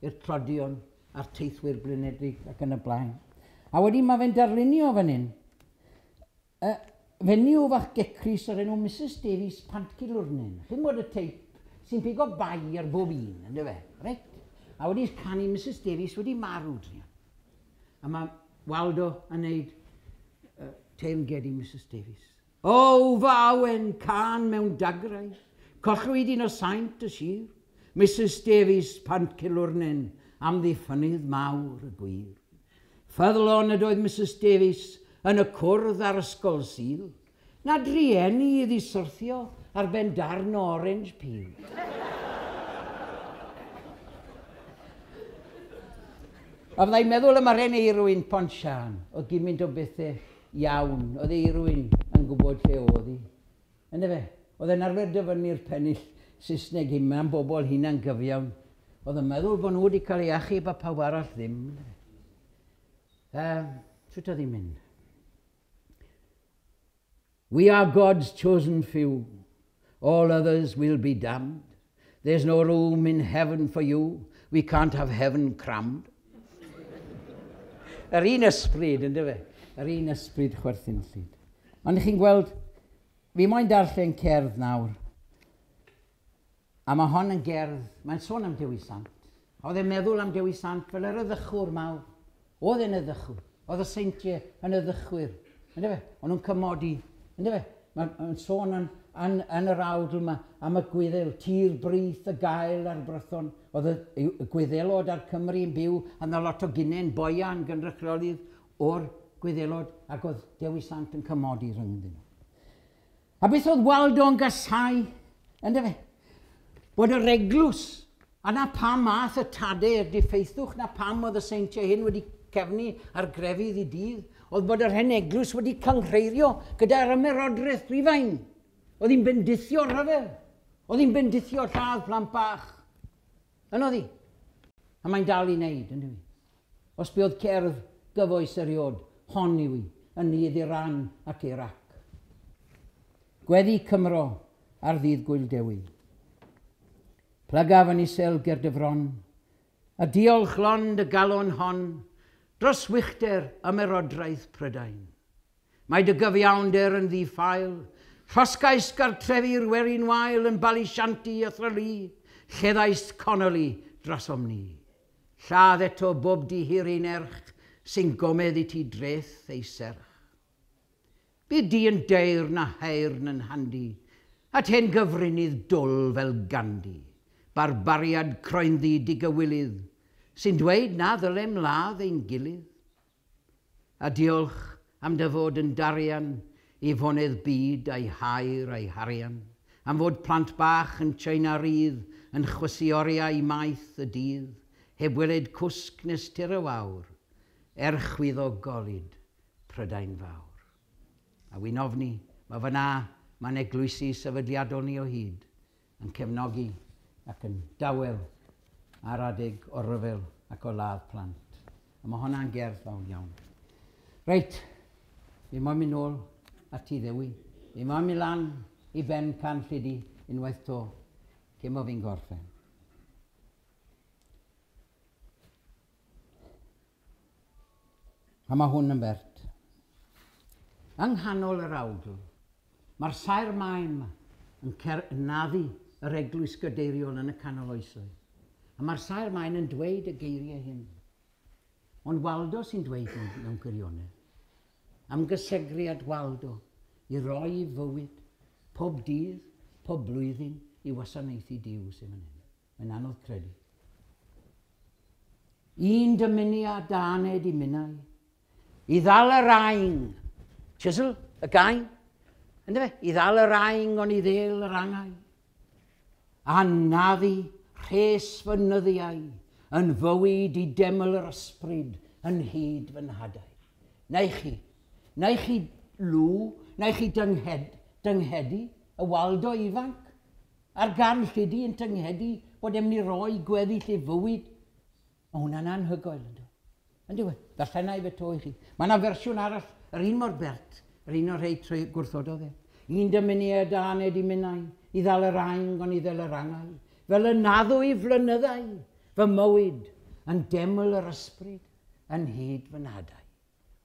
i'r tlodion a'r teithwyr blinedig ac yn y blaen. A wedyn mae fe'n darlunio fan hyn. Uh, fenyw fach gecrus o'r enw Missus Davies Pantcilwrnen. Chi'n gwybod y teip sy'n pigo bai ar bob un, ynddo fe? Reit? A wedi canu Missus Davies wedi marw druan. A mae Waldo yn neud uh, teyrnged i Missus Davies. O, fy awen, can mewn dagrau, collwyd un o saint y sir, Missus Davies Pantcilwrnen, am ddiffynydd mawr y gwir. Ffyddlon ydoedd Missus Davies yn y cwrdd ar ysgol Sul, na drueni iddi syrthio ar ben darn o orange peel. A fyddai'n meddwl am yr hen Eirwyn Pontsiân, oedd gymaint o bethau iawn, oedd Eirwyn yn gwybod lle oedd hi. Ynde fe? Oedd e'n arfer dyfynnu'r pennill Saesneg hyn am bobl hunan gyfiawn. Oedd yn meddwl bod nhw wedi cael ei achub a pawb arall ddim. Um, sut oedd hi'n mynd? We are God's chosen few. All others will be damned. There's no room in heaven for you. We can't have heaven crammed. Yr un ysbryd, ynddo fe? Yr un ysbryd chwerthinllyd. Ond chi'n gweld, fi moyn darllen cerdd nawr. A mae hon yn gerdd, mae'n sôn am Dewi Sant. Oedd e'n meddwl am Dewi Sant fel yr eddychwr mawr. Oedd e'n eddychwr. Oedd y seintiau yn eddychwyr. Ynddo fe? O'n nhw'n cymodi. Ynddo fe? Mae'n sôn yn, yn, yn yr awdl yma am y Gwyddel, tir brith y gael a'r Brython. Oedd y, y Gwyddelod a'r Cymru yn byw, a yna lot o gynnen boian gynrychiolydd o'r Gwyddelod, ac oedd Dewi Sant yn cymodi rhyngddyn nhw. A beth oedd Waldo'n gasau? Ynddo fe? Bod yr eglwys, a na pam math y tadau i'r diffeithwch, na pam oedd y seintiau hyn wedi cefnu ar grefydd i dydd, oedd bod yr hen eglwys wedi cynghreirio gyda'r ymerodraeth Rufain. Oedd hi'n bendithio rhyfel. Oedd hi'n bendithio lladd plant bach. Yn oedd hi. A mae'n dal i wneud, yn dyw hi. Os bu oedd cerdd gyfoes eriod, hon yw hi, yn nydd Iran ac Iraq. Gweddi Cymro ar ddydd Gwyl Dewi. Plygaf yn isel ger dy fron, a diolch lond y galon hon, dros wychder ymerodraeth Prydain. Mae dy gyfiawnder yn ddi-ffael, llosgais gartrefi'r werin wael yn Balishanti a Thralee, lleddais Connolly drosom ni. Lladd eto bob dihiryn erch sy'n gomedd i ti dreth ei serch. Bydd di yn deyrn na heirn yn handi, at hen gyfrinydd dwl fel Gandhi, barbariad croenddu digywilydd, sy'n dweud na ddylem ladd ein gilydd. A diolch am dy fod yn darian i fonedd byd a'i hair a'i harian, am fod plant bach yn China rydd yn chwysu oriau maith y dydd, heb weled cwsg nes tir y wawr, er chwyddo golud Prydain fawr. A wy'n ofni, mae fyna, mae'n eglwysi sefydliadol ni o hyd, yn cefnogi ac yn dawel ar adeg o ryfel ac o ladd plant. A mae hwnna'n gerdd fawr iawn. Reit, fi moyn mynd nôl at ti Ddewi. Fi moyn mynd lan i ben Carn Llidi unwaith to, cyn bo fi'n gorffen. A mae hwn yn bert. Yng nghanol yr awdl, mae'r saer maen yma yn, yn naddu yr eglwys gadeiriol yn y canol oesoedd. A mae'r saer maen yn dweud y geiriau hyn. Ond Waldo sy'n dweud nhw mewn gwirionedd. Am gysegriad Waldo i roi fywyd pob dydd, pob blwyddyn i wasanaethu Duw sy'n fan hyn. Mae'n anodd credu. Un dymuniad da aned i minnau, i ddal yr aing, chisel, y gain, yndyfe? I ddal yr aing ond i ddel yr angau. A naddu rhes fy nyddiau yn fywyd i deml yr ysbryd yn hyd fy nhadau. Na i chi, na i chi lw, na i chi dynghed, dynghedu y Waldo ifanc, a'r Garn Llidi yn tynghedu bod e'n mynd i roi gweddill ei fywyd. Mae hwnna'n anhygoel, ynddo. Yndyw e? Darllenai fe to i chi. Mae yna fersiwn arall, yr un mor bert, yr un o'r rhai trwy gwrthododd e. Un dymuniad a aned i minnau, i ddal yr aing ond i ddel yr angau, fel y naddwy flynyddau, fy mywyd, yn deml yr ysbryd, yn hyd fy nhadau.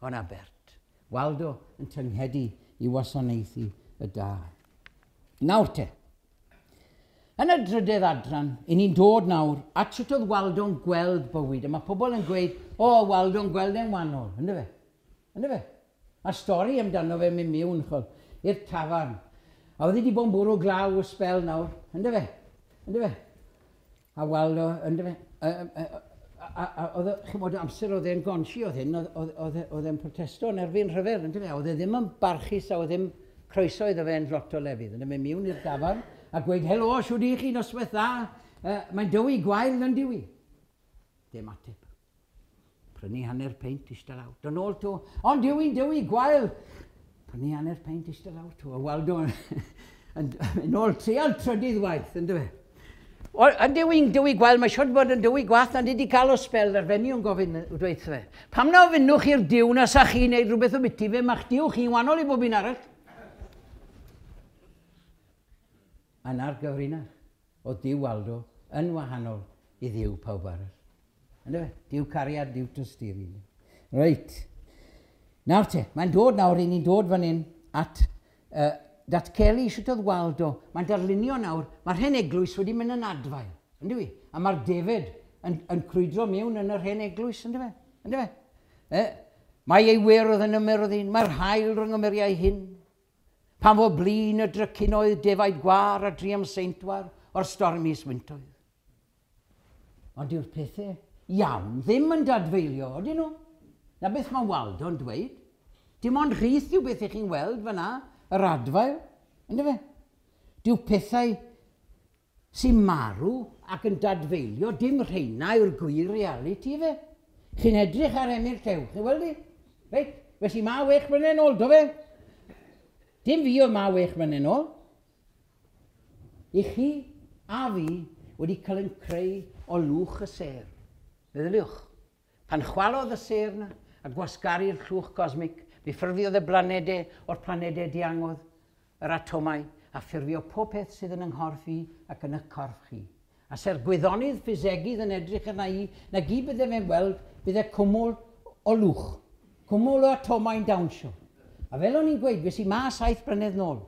Hwnna bert. Waldo yn tynghedu i wasanaethu y da. Nawr te. Yn y drydedd adran, i ni'n dod nawr at sut oedd Waldo'n gweld bywyd. A mae pobl yn gweud, o, Waldo'n gweld e'n wahanol, ynddo fe? Ynddo fe? Mae'r stori amdano fe mynd mewn, chol, i'r tafarn. A oedd wedi bod yn bwrw glaw y sbel nawr, ynddo fe? Ynddo fe? A Waldo, ynddo fe? A oedd, chimod, amser oedd e'n gonsi oedd hyn, oedd e'n protesto yn erbyn rhyfel, ynddo fe? Oedd e ddim yn barchus a oedd ddim croeso iddo fe yn lot o lefydd. Ynddo fe mewn i'r dafarn, a gweud, helo, siwr i chi, noswaith dda, uh, mae'n dywi gwael yn dywi. Dim ateb. Prynu hanner peint eistedd lawr. Dod nôl to, ond dywi'n dywi gwael. Prynu hanner peint eistedd lawr to. A Waldo yn, yn ôl trial trydydd waith, yn dywe. Yn dywi'n dywi gwael, mae siwr bod yn dywi gwaith na wedi cael o sbel ar fenyw yn gofyn dweud fe. Pam na ofynnwch i'r Duw na sa chi'n neud rhywbeth o biti fe, ma'ch Duw chi'n wahanol i bob un arall. Yna'r gyfrinach o Duw Waldo yn wahanol i Dduw pawb arall. Yndyfe? Duw cariad, Duw tosturi. Reit. Nawr te, mae'n dod nawr, i ni'n dod fan hyn at uh, datgelu sut oedd Waldo. Mae'n darlunio nawr, mae'r hen eglwys wedi mynd yn adfail, yndyw i? A mae'r defed yn, yn crwydro mewn yn yr hen eglwys, yndyfe? Yndyfe? E, mae ei werodd yn ymyrodd un, mae'r haul rhwng y muriau hyn. Pan fo blin y drycinoedd defaid gwar a driam seintwar o'r stormus wyntoedd. Ond yw'r pethau iawn ddim yn dadfeilio, ydyn nhw? Na beth mae Waldo'n dweud. Dim ond rhith yw beth ych chi'n weld fyna, yr adfail, yndyfe? Dyw pethau sy'n marw ac yn dadfeilio, dim rheina yw'r gwir realiti fe. Chi'n edrych ar Emyr Llew, chi'n weld i? Reit, felly ma wech mlynedd nôl, do fe? Dim fi oedd ma wech mlynedd nôl. I chi a fi wedi cael yn creu o lwch y sêr. Meddyliwch, pan chwalodd y sêr na a gwasgaru'r llwch cosmic, mi ffurfiodd y blanedau o'r planedau diangodd, yr atomau, a ffurfio pob peth sydd yn yng nghorff i ac yn y corff chi. A se'r gwyddonydd ffisegydd yn edrych arna i, na gyd bydde fe'n gweld, bydde cwmwl o lwch, cwmwl o atomau'n dawnsio. A fel o'n i'n gweud, fes i ma saith blynedd nôl.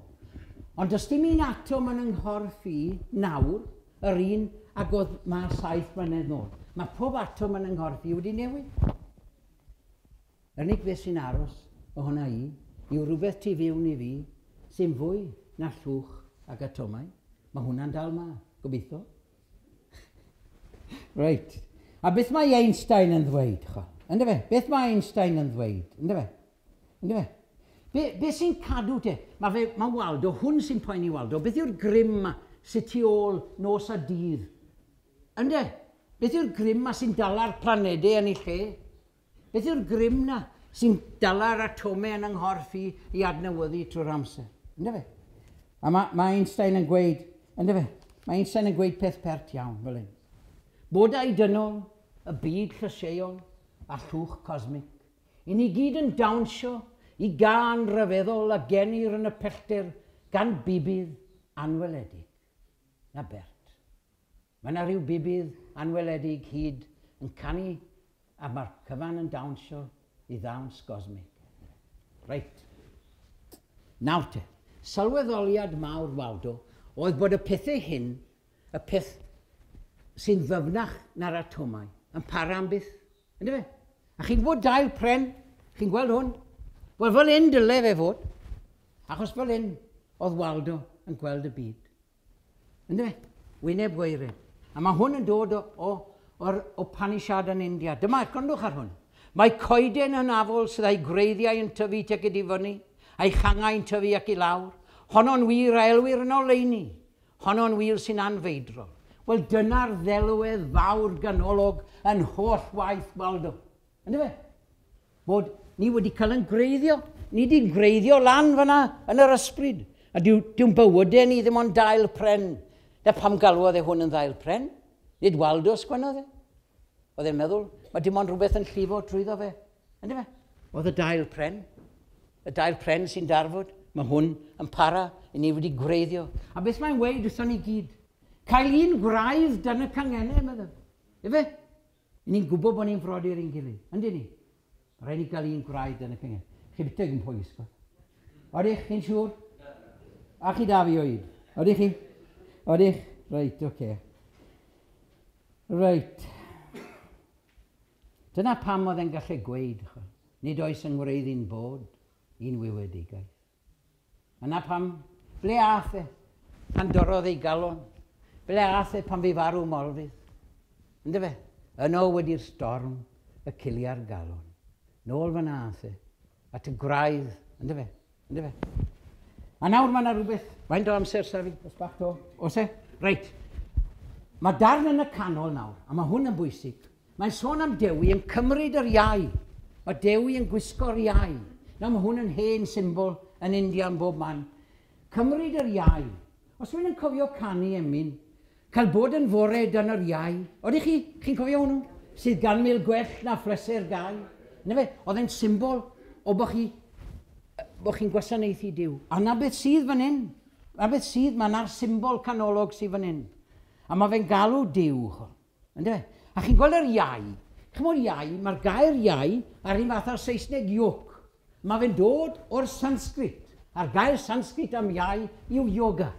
Ond does dim un atom yn yng nghorff i nawr, yr un ag oedd ma saith blynedd nôl. Mae pob atom yn yng nghorff i wedi newid. Yr unig beth sy'n aros ohona i yw rhywbeth tu fewn i fi sy'n fwy na llwch ag atomau. Mae hwnna'n dal ma, gobeithio. Reit. A beth mae Einstein yn ddweud, chwa? Yndyfe? Beth mae Einstein yn ddweud? Yndyfe? Yndyfe? Be, be sy'n cadw te? Mae, fe, mae Waldo, hwn sy'n poeni Waldo, beth yw'r grym ma sy'n tu ôl nos a dydd? Ynde? Beth yw'r grym ma sy'n dala'r planedau yn ei lle? Beth yw'r grym na sy'n dala'r atomau yn yng nghorff i i adnewyddu trwy'r amser? Ynde fe? A mae, mae Einstein yn gweud, ynde fe? Mae Einstein yn gweud peth pert iawn fel hyn. Bodau dynol, y byd llysieuol a llwch cosmic. I ni gyd yn dawnsio i gân ryfeddol a genir yn y pellter gan bibydd anweledig. Na bert. Mae yna rhyw bibydd anweledig hyd yn canu a mae'r cyfan yn dawnsio i ddawns gosmig. Reit. Nawr te, sylweddoliad mawr Waldo oedd bod y pethau hyn, y peth sy'n ddyfnach na'r atomau, yn para am byth. Ynddo fe? A chi'n gwybod dail pren? Chi'n gweld hwn? Wel, fel hyn dyle fe fod. Achos fel hyn oedd Waldo yn gweld y byd. Ynddo fe? Wyneb gwaered. A mae hwn yn dod o, o, o'r Upanishad yn India. Dyma, gwrandwch ar hwn. Mae coeden hynafol sydd â'i gwreiddiau yn tyfu tuag i fyny, a'i changau yn tyfu ac i lawr. Honno'n wir a elwir yn oleuni. Honno'n wir sy'n anfeidrol. Wel, dyna'r ddelwedd fawr ganolog yn holl waith Waldo. Ynddo fe? Bod ni wedi cael yn gwreiddio. Ni wedi'n gwreiddio lan fyna yn yr ysbryd. A dyw, dyw'n bywydau ni ddim ond dail pren. Na pam galwodd e hwn yn ddail pren? Nid Waldo sgwennodd e. Oedd e'n meddwl, mae dim ond rhywbeth yn llifo trwyddo fe. Ynddo fe? Oedd y dail pren. Y dail pren sy'n darfod. Mae hwn yn para i ni wedi gwreiddio. A beth mae'n weud wrthon ni gyd? Cael un gwraidd dan y cangennau, meddwl. Ife? Ni'n gwybod bod ni'n frodyr i'n gilydd. Yndyn ni? Mae rhaid ni gael un gwraidd dan y cangennau. Chi byteg yn pwys, go. Odych, chi'n siŵr? A chi da fi oed? Odych chi? Odych? Reit, oce. Okay. Reit. Dyna pam oedd e'n gallu gweud, nid oes yng ngwreiddyn bod un wywedigaeth. Yna pam, ble ath e pan dorrodd ei galon? Ble ath e pan fi farw Morfydd? Ynddo fe? Yno wedi'r storm, y cilia'r galon. Nôl fyna ath e, at y gwraidd, ynddo fe? Ynddo fe? A nawr mae yna rhywbeth, faint o amser sa fi? Os bach to? Oes e? Reit. Mae darn yn y canol nawr, a mae hwn yn bwysig. Mae'n sôn am Dewi yn cymryd yr iau. Mae Dewi yn gwisgo'r iau. Nawr mae hwn yn hen symbol yn India yn bob man. Cymryd yr iau. Os rhywun yn cofio canu emyn, cael bod yn fore dan yr iau. Oedych chi? Chi'n cofio hwnnw? Sydd gan mil gwell na phleser gau. Na fe? Oedd e'n symbol o bod chi, bod chi'n gwasanaethu Duw. A na beth sydd fan hyn. Na beth sydd, mae na'r symbol canolog sydd fan hyn. A mae fe'n galw Duw. Ynde fe? A chi'n gweld yr iau. Chimod iau, mae'r gair iau ar un fath o'r Saesneg yoke. Mae fe'n dod o'r Sanskrit. A'r gair Sanskrit am iau yw yoga.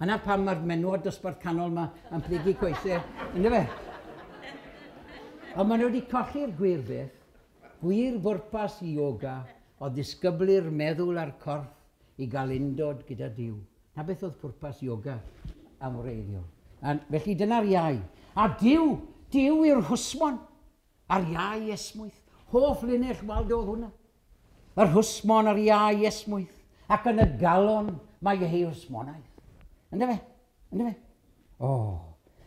Yna pam mae'r menywod dosbarth canol yma yn plygu coesau, ynde fe? Ond maen nhw wedi colli'r gwir beth. Gwir bwrpas yoga o ddisgyblu'r meddwl a'r corff i gael undod gyda Duw. Na beth oedd pwrpas yoga am wreiddiol. A felly dyna'r iau. A Duw, Duw yw'r hwsmon a'r iau esmwyth. Hoff linell Waldo oedd hwnna. Yr hwsmon a'r iau esmwyth. Ac yn y galon mae ei hwsmonaeth. Ynde fe? Ynde fe? O.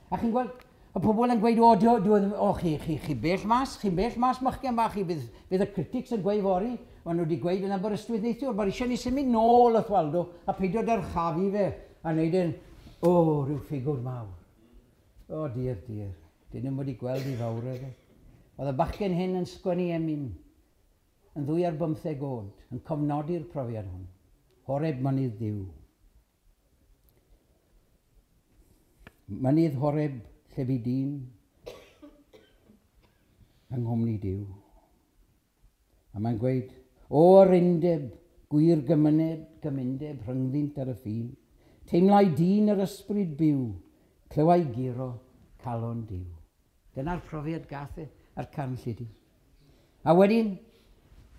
A chi'n gweld, y pobl yn gweud, o, dwi, dwi, o chi, chi, chi bell mas, chi'n bell mas, machgen bach, chi, bydd, bydd y critics yn gweud fory, maen nhw wedi gweud yn Aberystwyth neithiwr, mae'r eisiau ni symud nôl wrth Waldo a peidio dyrchafu fe a wneud e'n, o, rhyw ffigwr mawr. O, diar, diar, dyn nhw'n wedi gweld i fawredd e. Oedd y bachgen hyn yn sgwennu emyn, yn ddwy ar bymtheg oed, yn cofnodi'r profiad hwn. Horeb mynydd Duw. Mynydd Horeb lle bu dyn yng nghwmni Duw. A mae'n gweud, o yr undeb, gwir gymuned, gymundeb rhyngddynt ar y ffin, teimlai dyn yr ysbryd byw, clywai guro calon Duw. Dyna'r profiad gath e ar Carn Llidi. A wedyn,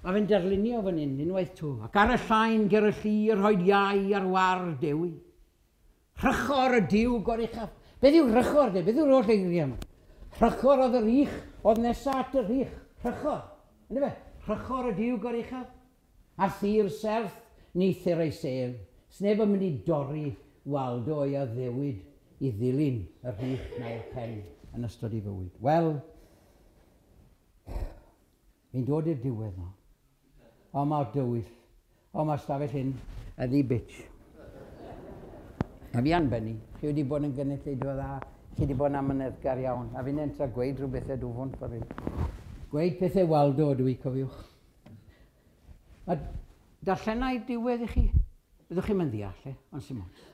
mae fe'n darlunio fan hyn, unwaith to, ac ar y llain ger y llu, rhoed iau ar war Dewi. Rhychor y Duw goruchaf. Beth yw rhychor de? Beth yw'r holl eiriau yma? Rhychor oedd yr ych, oedd nesa at yr ych. Rhychor. Ynde fe? Rhychor y Duw goruchaf. A thir serth ni thir ei sef. Sneb yn mynd i dorri Waldo o'i addewid i ddilyn y rhych neu'r pen yn ystod ei fywyd. Wel, fi'n dod i'r diwedd nawr. O, mae'r dywyll. O, mae'r stafell hyn yn ddi bitch. A fi anbenni, chi wedi bod yn gynulleidfa dda, Chi wedi bod yn amyneddgar iawn, a fi'n entra gweud rhyw bethau dwfwn ffordd hyn. Gweud pethau Waldo ydw i, cofiwch. A darllenau diwedd i chi, byddwch chi'n mynd ddeall, e? Ond sy'n ots.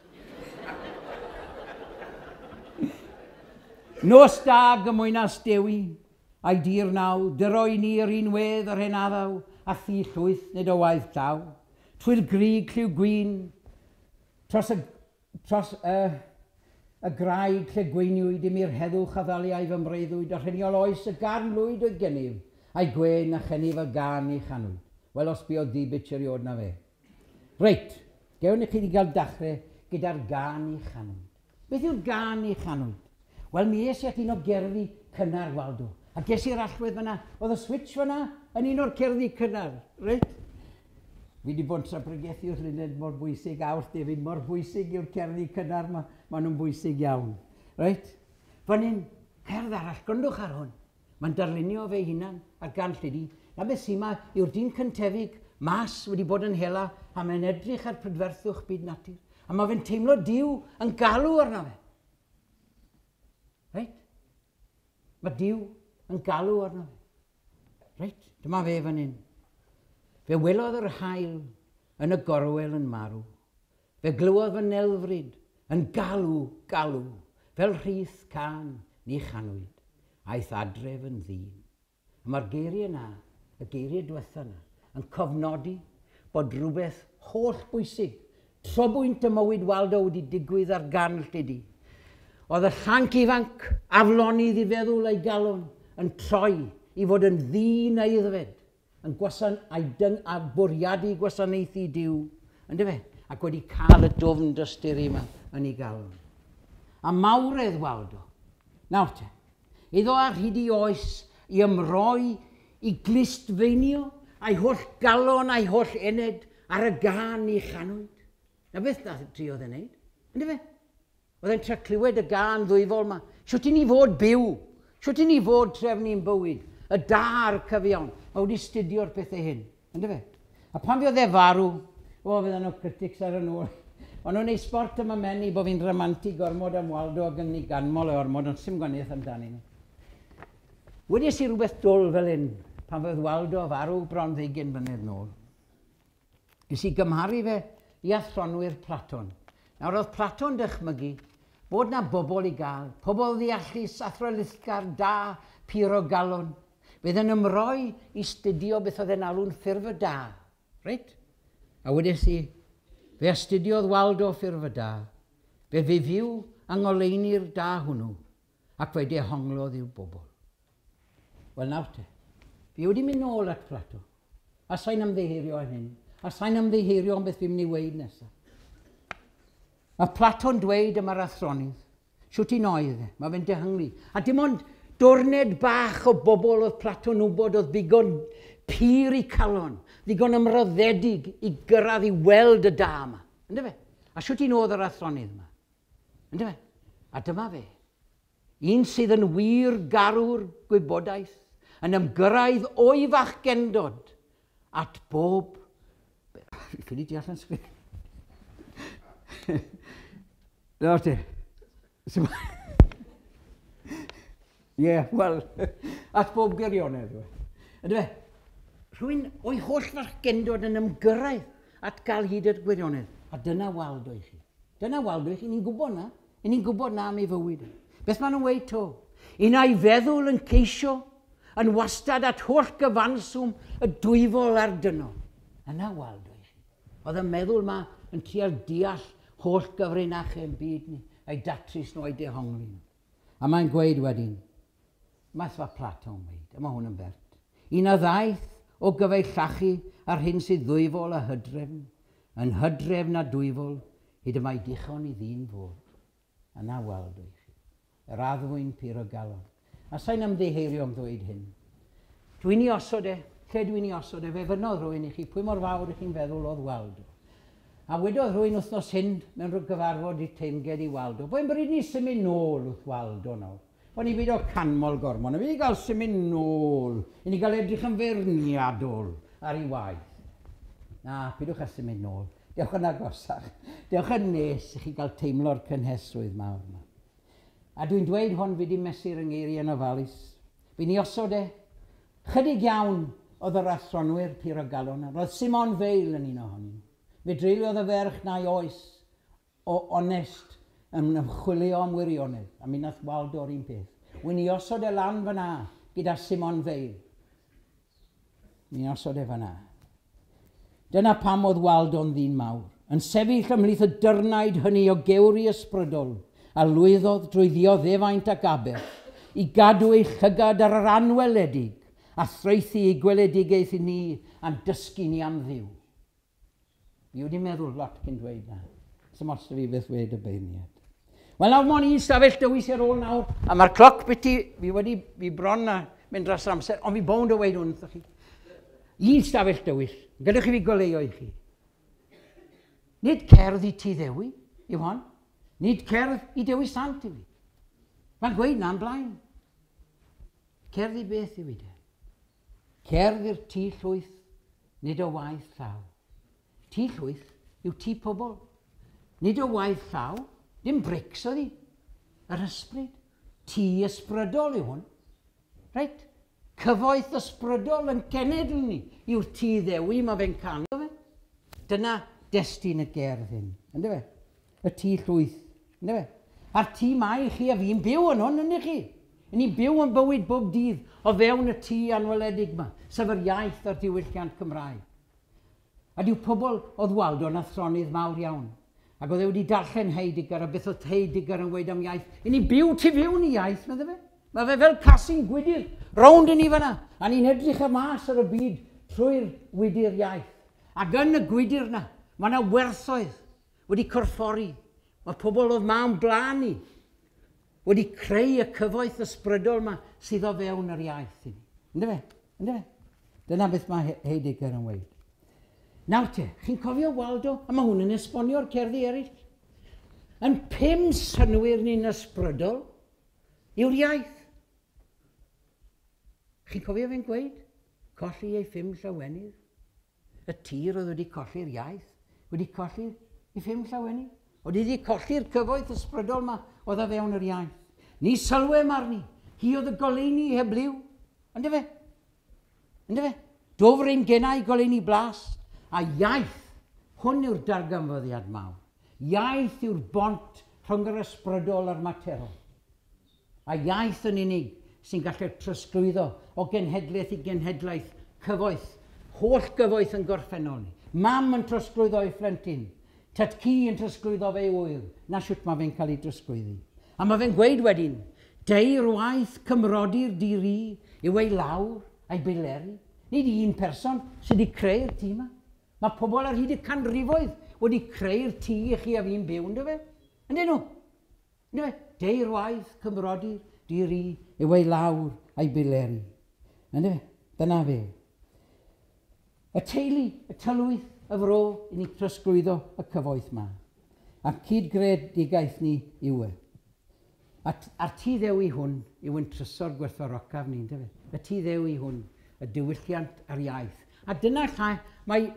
Nos da gymwynas Dewi, a'i dir naw, dyro i ni yr un wedd yr hen addaw, a thi llwyth nid o waith llaw. Trwy'r grig lliw gwyn, dros y, dros y, y graig lle gweiniwyd i mi'r heddwch a ddaliau fy mreuddwyd, a rheniol oes y garn lwyd oedd gennyf, a'i gwen a chennyf y gan i chanwyd. Wel, os buodd ddi bitch erioed na fe. Reit, gewn i chi wedi gael dachrau gyda'r gan i chanwyd. Beth yw'r gan i chanwyd? Wel, mi es i at un o gerddi cynnar Waldo. A ges i'r allwedd fyna, oedd y switch fyna yn un o'r cerddi cynnar, reit? Fi wedi bod yn tra-bregethu wrth Luned mor bwysig, a wrth David mor bwysig yw'r cerddi cynnar, ma, ma nhw'n bwysig iawn. Reit? Fan hyn, cerdd arall, gwrandwch ar hwn. Mae'n darlunio fe hunan ar gan Llydi. Na beth sy'n ma yw'r dyn cyntefig mas wedi bod yn hela, a mae'n edrych ar prydferthwch byd natur. A mae fe'n teimlo Duw yn galw arno fe. Reit? Mae Duw yn galw arno fe. Reit? Dyma fe fan hyn. Fe welodd yr haul yn y gorwel yn marw. Fe glywodd fy nelfryd yn galw, galw, fel rhith can ni chanwyd. Aeth adref yn ddyn. A mae'r geiriau yna, y geiriau diwetha yna, yn cofnodi bod rhywbeth holl bwysig, trobwynt y mywyd Waldo wedi digwydd ar gan Llydi. Oedd y llanc ifanc, aflonydd i feddwl a'i galon, yn troi i fod yn ddyn aeddfed, yn gwasan, a'i dyng, a bwriadu gwasanaethu Duw, yndyfe? Ac wedi cael y dwfn dosturi yma yn ei galon. A mawredd Waldo, nawr te, iddo ar hyd i oes i ymroi, i glustfeinio, a'i holl galon, a'i holl ened ar y gan i chanwyd. Na beth nath driodd e'n neud, yndyfe? Oedd e'n trio clywed y gan ddwyfol yma. Shwt i ni fod byw? Shwt i ni fod trefnu'n bywyd? Y da a'r cyfiawn. Mae wedi studio'r pethau hyn, yndyfe? A pan fuodd e farw, o, fydden nhw critics ar y nôl. O'n nhw'n neud sport am y meni bod fi'n rhamantu gormod am Waldo ac yn ei ganmol e ormod, ond sim gwaniaeth amdani ni. Wedes i rhywbeth dwl fel hyn, pan fydd Waldo farw bron ddeugain mlynedd nôl. Nes i gymharu fe i athronwyr Platon. Nawr oedd Platon dychmygu bod na bobl i gael, pobl ddeallus, athrylithgar, da, pur o galon. Bydd yn ymroi i studio beth oedd e'n alw'n ffurf y da. Reit? A wedes i, fe astudiodd Waldo ffurf y da, fe fe fyw yng ngoleuni'r da hwnnw, ac fe dehonglodd i'w bobl. Wel nawr te, fi wedi mynd nôl at Plato, a sa'n ymddiheurio am hyn, a sa'n ymddiheurio am beth fi'n mynd i weud nesaf. Mae Plato'n dweud yma'r athronydd, shwt un oedd e, mae fe'n dehongli. A dim ond dwrned bach o bobl oedd Plato'n wybod oedd ddigon pur i calon, ddigon ymroddedig i gyrraedd i weld y da yma. Yndyfe? A shwt un oedd yr athronydd yma? Yndyfe? A dyma fe. Un sydd yn wir garw'r gwybodaeth, yn ymgyrraedd o'i fachgendod at bob... Fi ffili deall yn sgrin. Nawr te. Ie, wel, at bob gwirionedd. Yndyfe? Rhywun o'i holl fachgendod yn ymgyrraedd at gael hyd at gwirionedd. A dyna Waldo i chi. Dyna Waldo i chi, ni'n gwybod na. Ni'n gwybod na am ei fywyd. Beth maen nhw'n weud to? Un a'i feddwl yn ceisio, yn wastad at holl gyfanswm y dwyfol a'r dynol. Yna Waldo i chi. Oedd y meddwl ma yn trial deall holl gyfrinachau yn byd ni, a'i datrys nhw, a'i dehongli nhw. A mae'n gweud wedyn, math fa Plato'n weud, a mae hwn yn bert. Un a ddaeth o gyfeillachu ar hyn sydd ddwyfol a hydrefn, yn hydrefn a dwyfol, hyd y mae dichon i ddyn fod. Yna Waldo i chi. Yr addfwyn pur o galon. A sa'n ymddiheurio am ddweud hyn. Dwi'n ei osod e, lle dwi'n ei osod e, fe fynodd rhywun i chi, pwy mor fawr i chi'n feddwl oedd Waldo. A wedodd rhywun wythnos hyn mewn rhyw gyfarfod i teimged i Waldo. Bo'n bryd ni symud nôl wrth Waldo nawr. O'n i byd o canmol gormod, a fi wedi cael symud nôl, i ni gael edrych yn feirniadol ar ei waith. Na, pidwch â symud nôl. Dewch yn agosach. Dewch yn nes i chi gael teimlo'r cynhesrwydd mawr yma. A dwi'n dweud hwn fi di mesur yng ngeiriau yn ofalus. Fi'n ei osod e. Chydig iawn oedd yr athronwyr pur o galon. Roedd Simone Weil yn un ohonyn nhw. Fe dreuliodd y ferch na'i oes o onest yn ymchwilio am wirionedd. A mi nath Waldo'r un peth. Wy'n i osod e lan fyna gyda Simone Weil. Mi'n osod e fyna. Dyna pam oedd Waldo'n ddyn mawr, yn sefyll ymhlith y dyrnaid hynny o gewri ysbrydol a lwyddodd drwy ddioddefaint ac aberth i gadw ei llygad ar yr anweledig a thraethu ei gweledigaeth i ni a'n dysgu ni am Dduw. Fi wedi meddwl lot cyn dweud na. Sdim ots 'da fi beth wed y beirniad. Wel nawr, mond un stafell dywyll ar ôl nawr, a mae'r cloc biti, fi wedi, fi bron a mynd dros yr amser, ond fi bownd o weud hwn wrthoch chi. Un stafell dywyll, gadewch i fi goleuo i chi. Nid cerdd i Tŷ Ddewi yw hon, nid cerdd i Dewi Sant yw hi. Mae'n gweud na'n blaen. Cerdd i beth yw hi de? Cerdd i'r tŷ llwyth, nid o waith llaw. Tŷ llwyth yw tŷ pobl. Nid o waith llaw, dim brics oedd hi. Yr ysbryd. Tŷ ysbrydol yw hwn. Reit? Cyfoeth ysbrydol yn cenedl ni yw'r Tŷ Ddewi mae fe'n canu fe. Dyna destun y gerdd hyn. Ynddo fe? Y tŷ llwyth. Ynddo fe? A'r tŷ mae chi a fi'n byw yn hwn, ynddo chi? Ni'n byw yn bywyd bob dydd o fewn y tŷ anweledig yma, sef yr iaith a'r diwylliant Cymraeg. A dyw pobl oedd Waldo'n athronydd mawr iawn. Ac oedd e wedi darllen Heidegger a beth oedd Heidegger yn weud am iaith. I ni'n byw tu fewn i iaith, medde fe. Mae fe fel casyn gwydyr, rownd i ni fyna. A ni'n edrych y mas ar y byd trwy'r wydyr iaith. Ac yn y gwydyr na, mae yna werthoedd wedi corffori. Mae pobl oedd ma'n blaen ni wedi creu y cyfoeth ysbrydol yma sydd o fewn yr iaith i ni. Ynddo fe? Ynddo fe? Dyna beth mae Heidegger yn weud. Nawr te, chi'n cofio Waldo? A mae hwn yn esbonio'r cerddi eraill. Yn pum synwyr ni'n ysbrydol yw'r iaith. Chi'n cofio fe'n gweud? Colli ei phum llawenydd. Y tir oedd wedi colli'r iaith, wedi colli ei phum llawenydd. Oedd wedi colli'r cyfoeth ysbrydol yma oedd o fewn yr iaith. Ni sylwem arni. Hi oedd y goleuni heb liw. Ynddo fe? Ynddo fe? Dwfr ein genau goleuni blas. A iaith, hwn yw'r darganfyddiad mawr. Iaith yw'r bont rhwng yr ysbrydol a'r materol. A iaith yn unig sy'n gallu trosglwyddo o genhedlaeth i genhedlaeth cyfoeth, holl gyfoeth yn gorffennol ni. Mam yn trosglwyddo ei phlentyn, tad-cu yn trosglwyddo fe i ŵyr. Na siwt mae fe'n cael ei drosglwyddi. A mae fe'n gweud wedyn, deir waith cymrodyr di-ri yw ei lawr a'i bileri. Nid un person sydd wedi creu'r tŷ yma. Mae pobl ar hyd y canrifoedd wedi creu'r tŷ i chi a fi'n byw, ynddo fe? Yndyn nhw? Ynddo fe? Deir waith cymrodyr di-ri yw ei lawr a'i bileri. Ynddo fe? Dyna fe. Y teulu, y tylwyth, y fro, i ni trosglwyddo y cyfoeth yma. A cyd-gredigaeth ni yw e. A'r Tŷ Ddewi hwn yw yn trysor gwerthfawrocaf ni, ynddo fe? Y Tŷ Ddewi hwn, y diwylliant a'r iaith. A dyna lle mae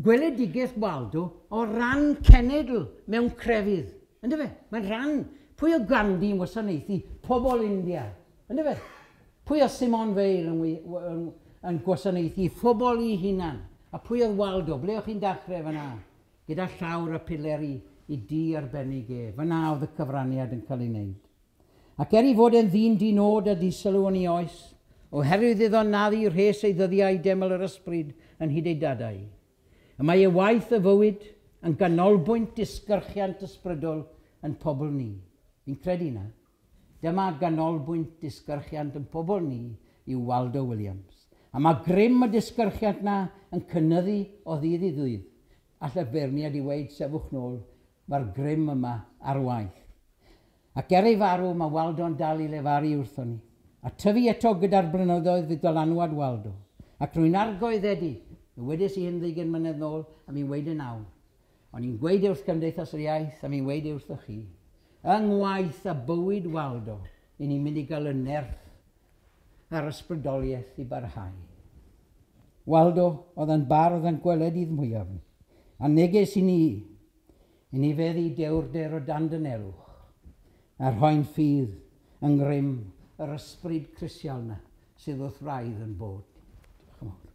gweledigaeth Waldo o ran cenedl mewn crefydd. Ynddo fe? Mae'n rhan. Pwy o Gandhi yn wasanaethu pobl India? Ynddo fe? Pwy o Simone Weil yn, yn, yn gwasanaethu phobl i hunan? A pwy oedd Waldo? Ble o'ch chi'n dechrau fyna? Gyda llawr y pileri i dŷ arbennig e. Fyna oedd y cyfraniad yn cael ei wneud. Ac er i fod e'n ddyn dinod a disylw yn ei oes, oherwydd iddo naddu rhes ei ddyddiau deml yr ysbryd yn hyd ei dadau, y mae ei waith y fywyd yn ganolbwynt disgyrchiant ysbrydol yn pobl ni. Fi'n credu na. Dyma ganolbwynt disgyrchiant yn pobl ni yw Waldo Williams. A mae grym y disgyrchiant na yn cynyddu o ddydd i ddydd. All y beirniad i weud sefwch nôl, mae'r grym yma ar waith. Ac er ei farw, mae Waldo'n dal i lefaru wrthon ni. A tyfu eto gyda'r blynyddoedd fydd dylanwad Waldo. Ac rwy'n argoeddedig, mi wedes i hyn ddeugain mlynedd nôl, a mi'n weud yn awr. O'n i'n gweud wrth Gymdeithas yr Iaith, a mi'n weud wrthoch chi. Yng ngwaith a bywyd Waldo, i ni'n mynd i gael y nerth a'r ysbrydoliaeth i barhau. Waldo oedd yn bardd yn gweledydd mwyaf. A neges i ni, i ni feddu dewrder o dan dynelwch. A rhoi'n ffydd yng ngrym yr ysbryd crisial 'na sydd wrth wraidd ein bod. Diolch yn fawr.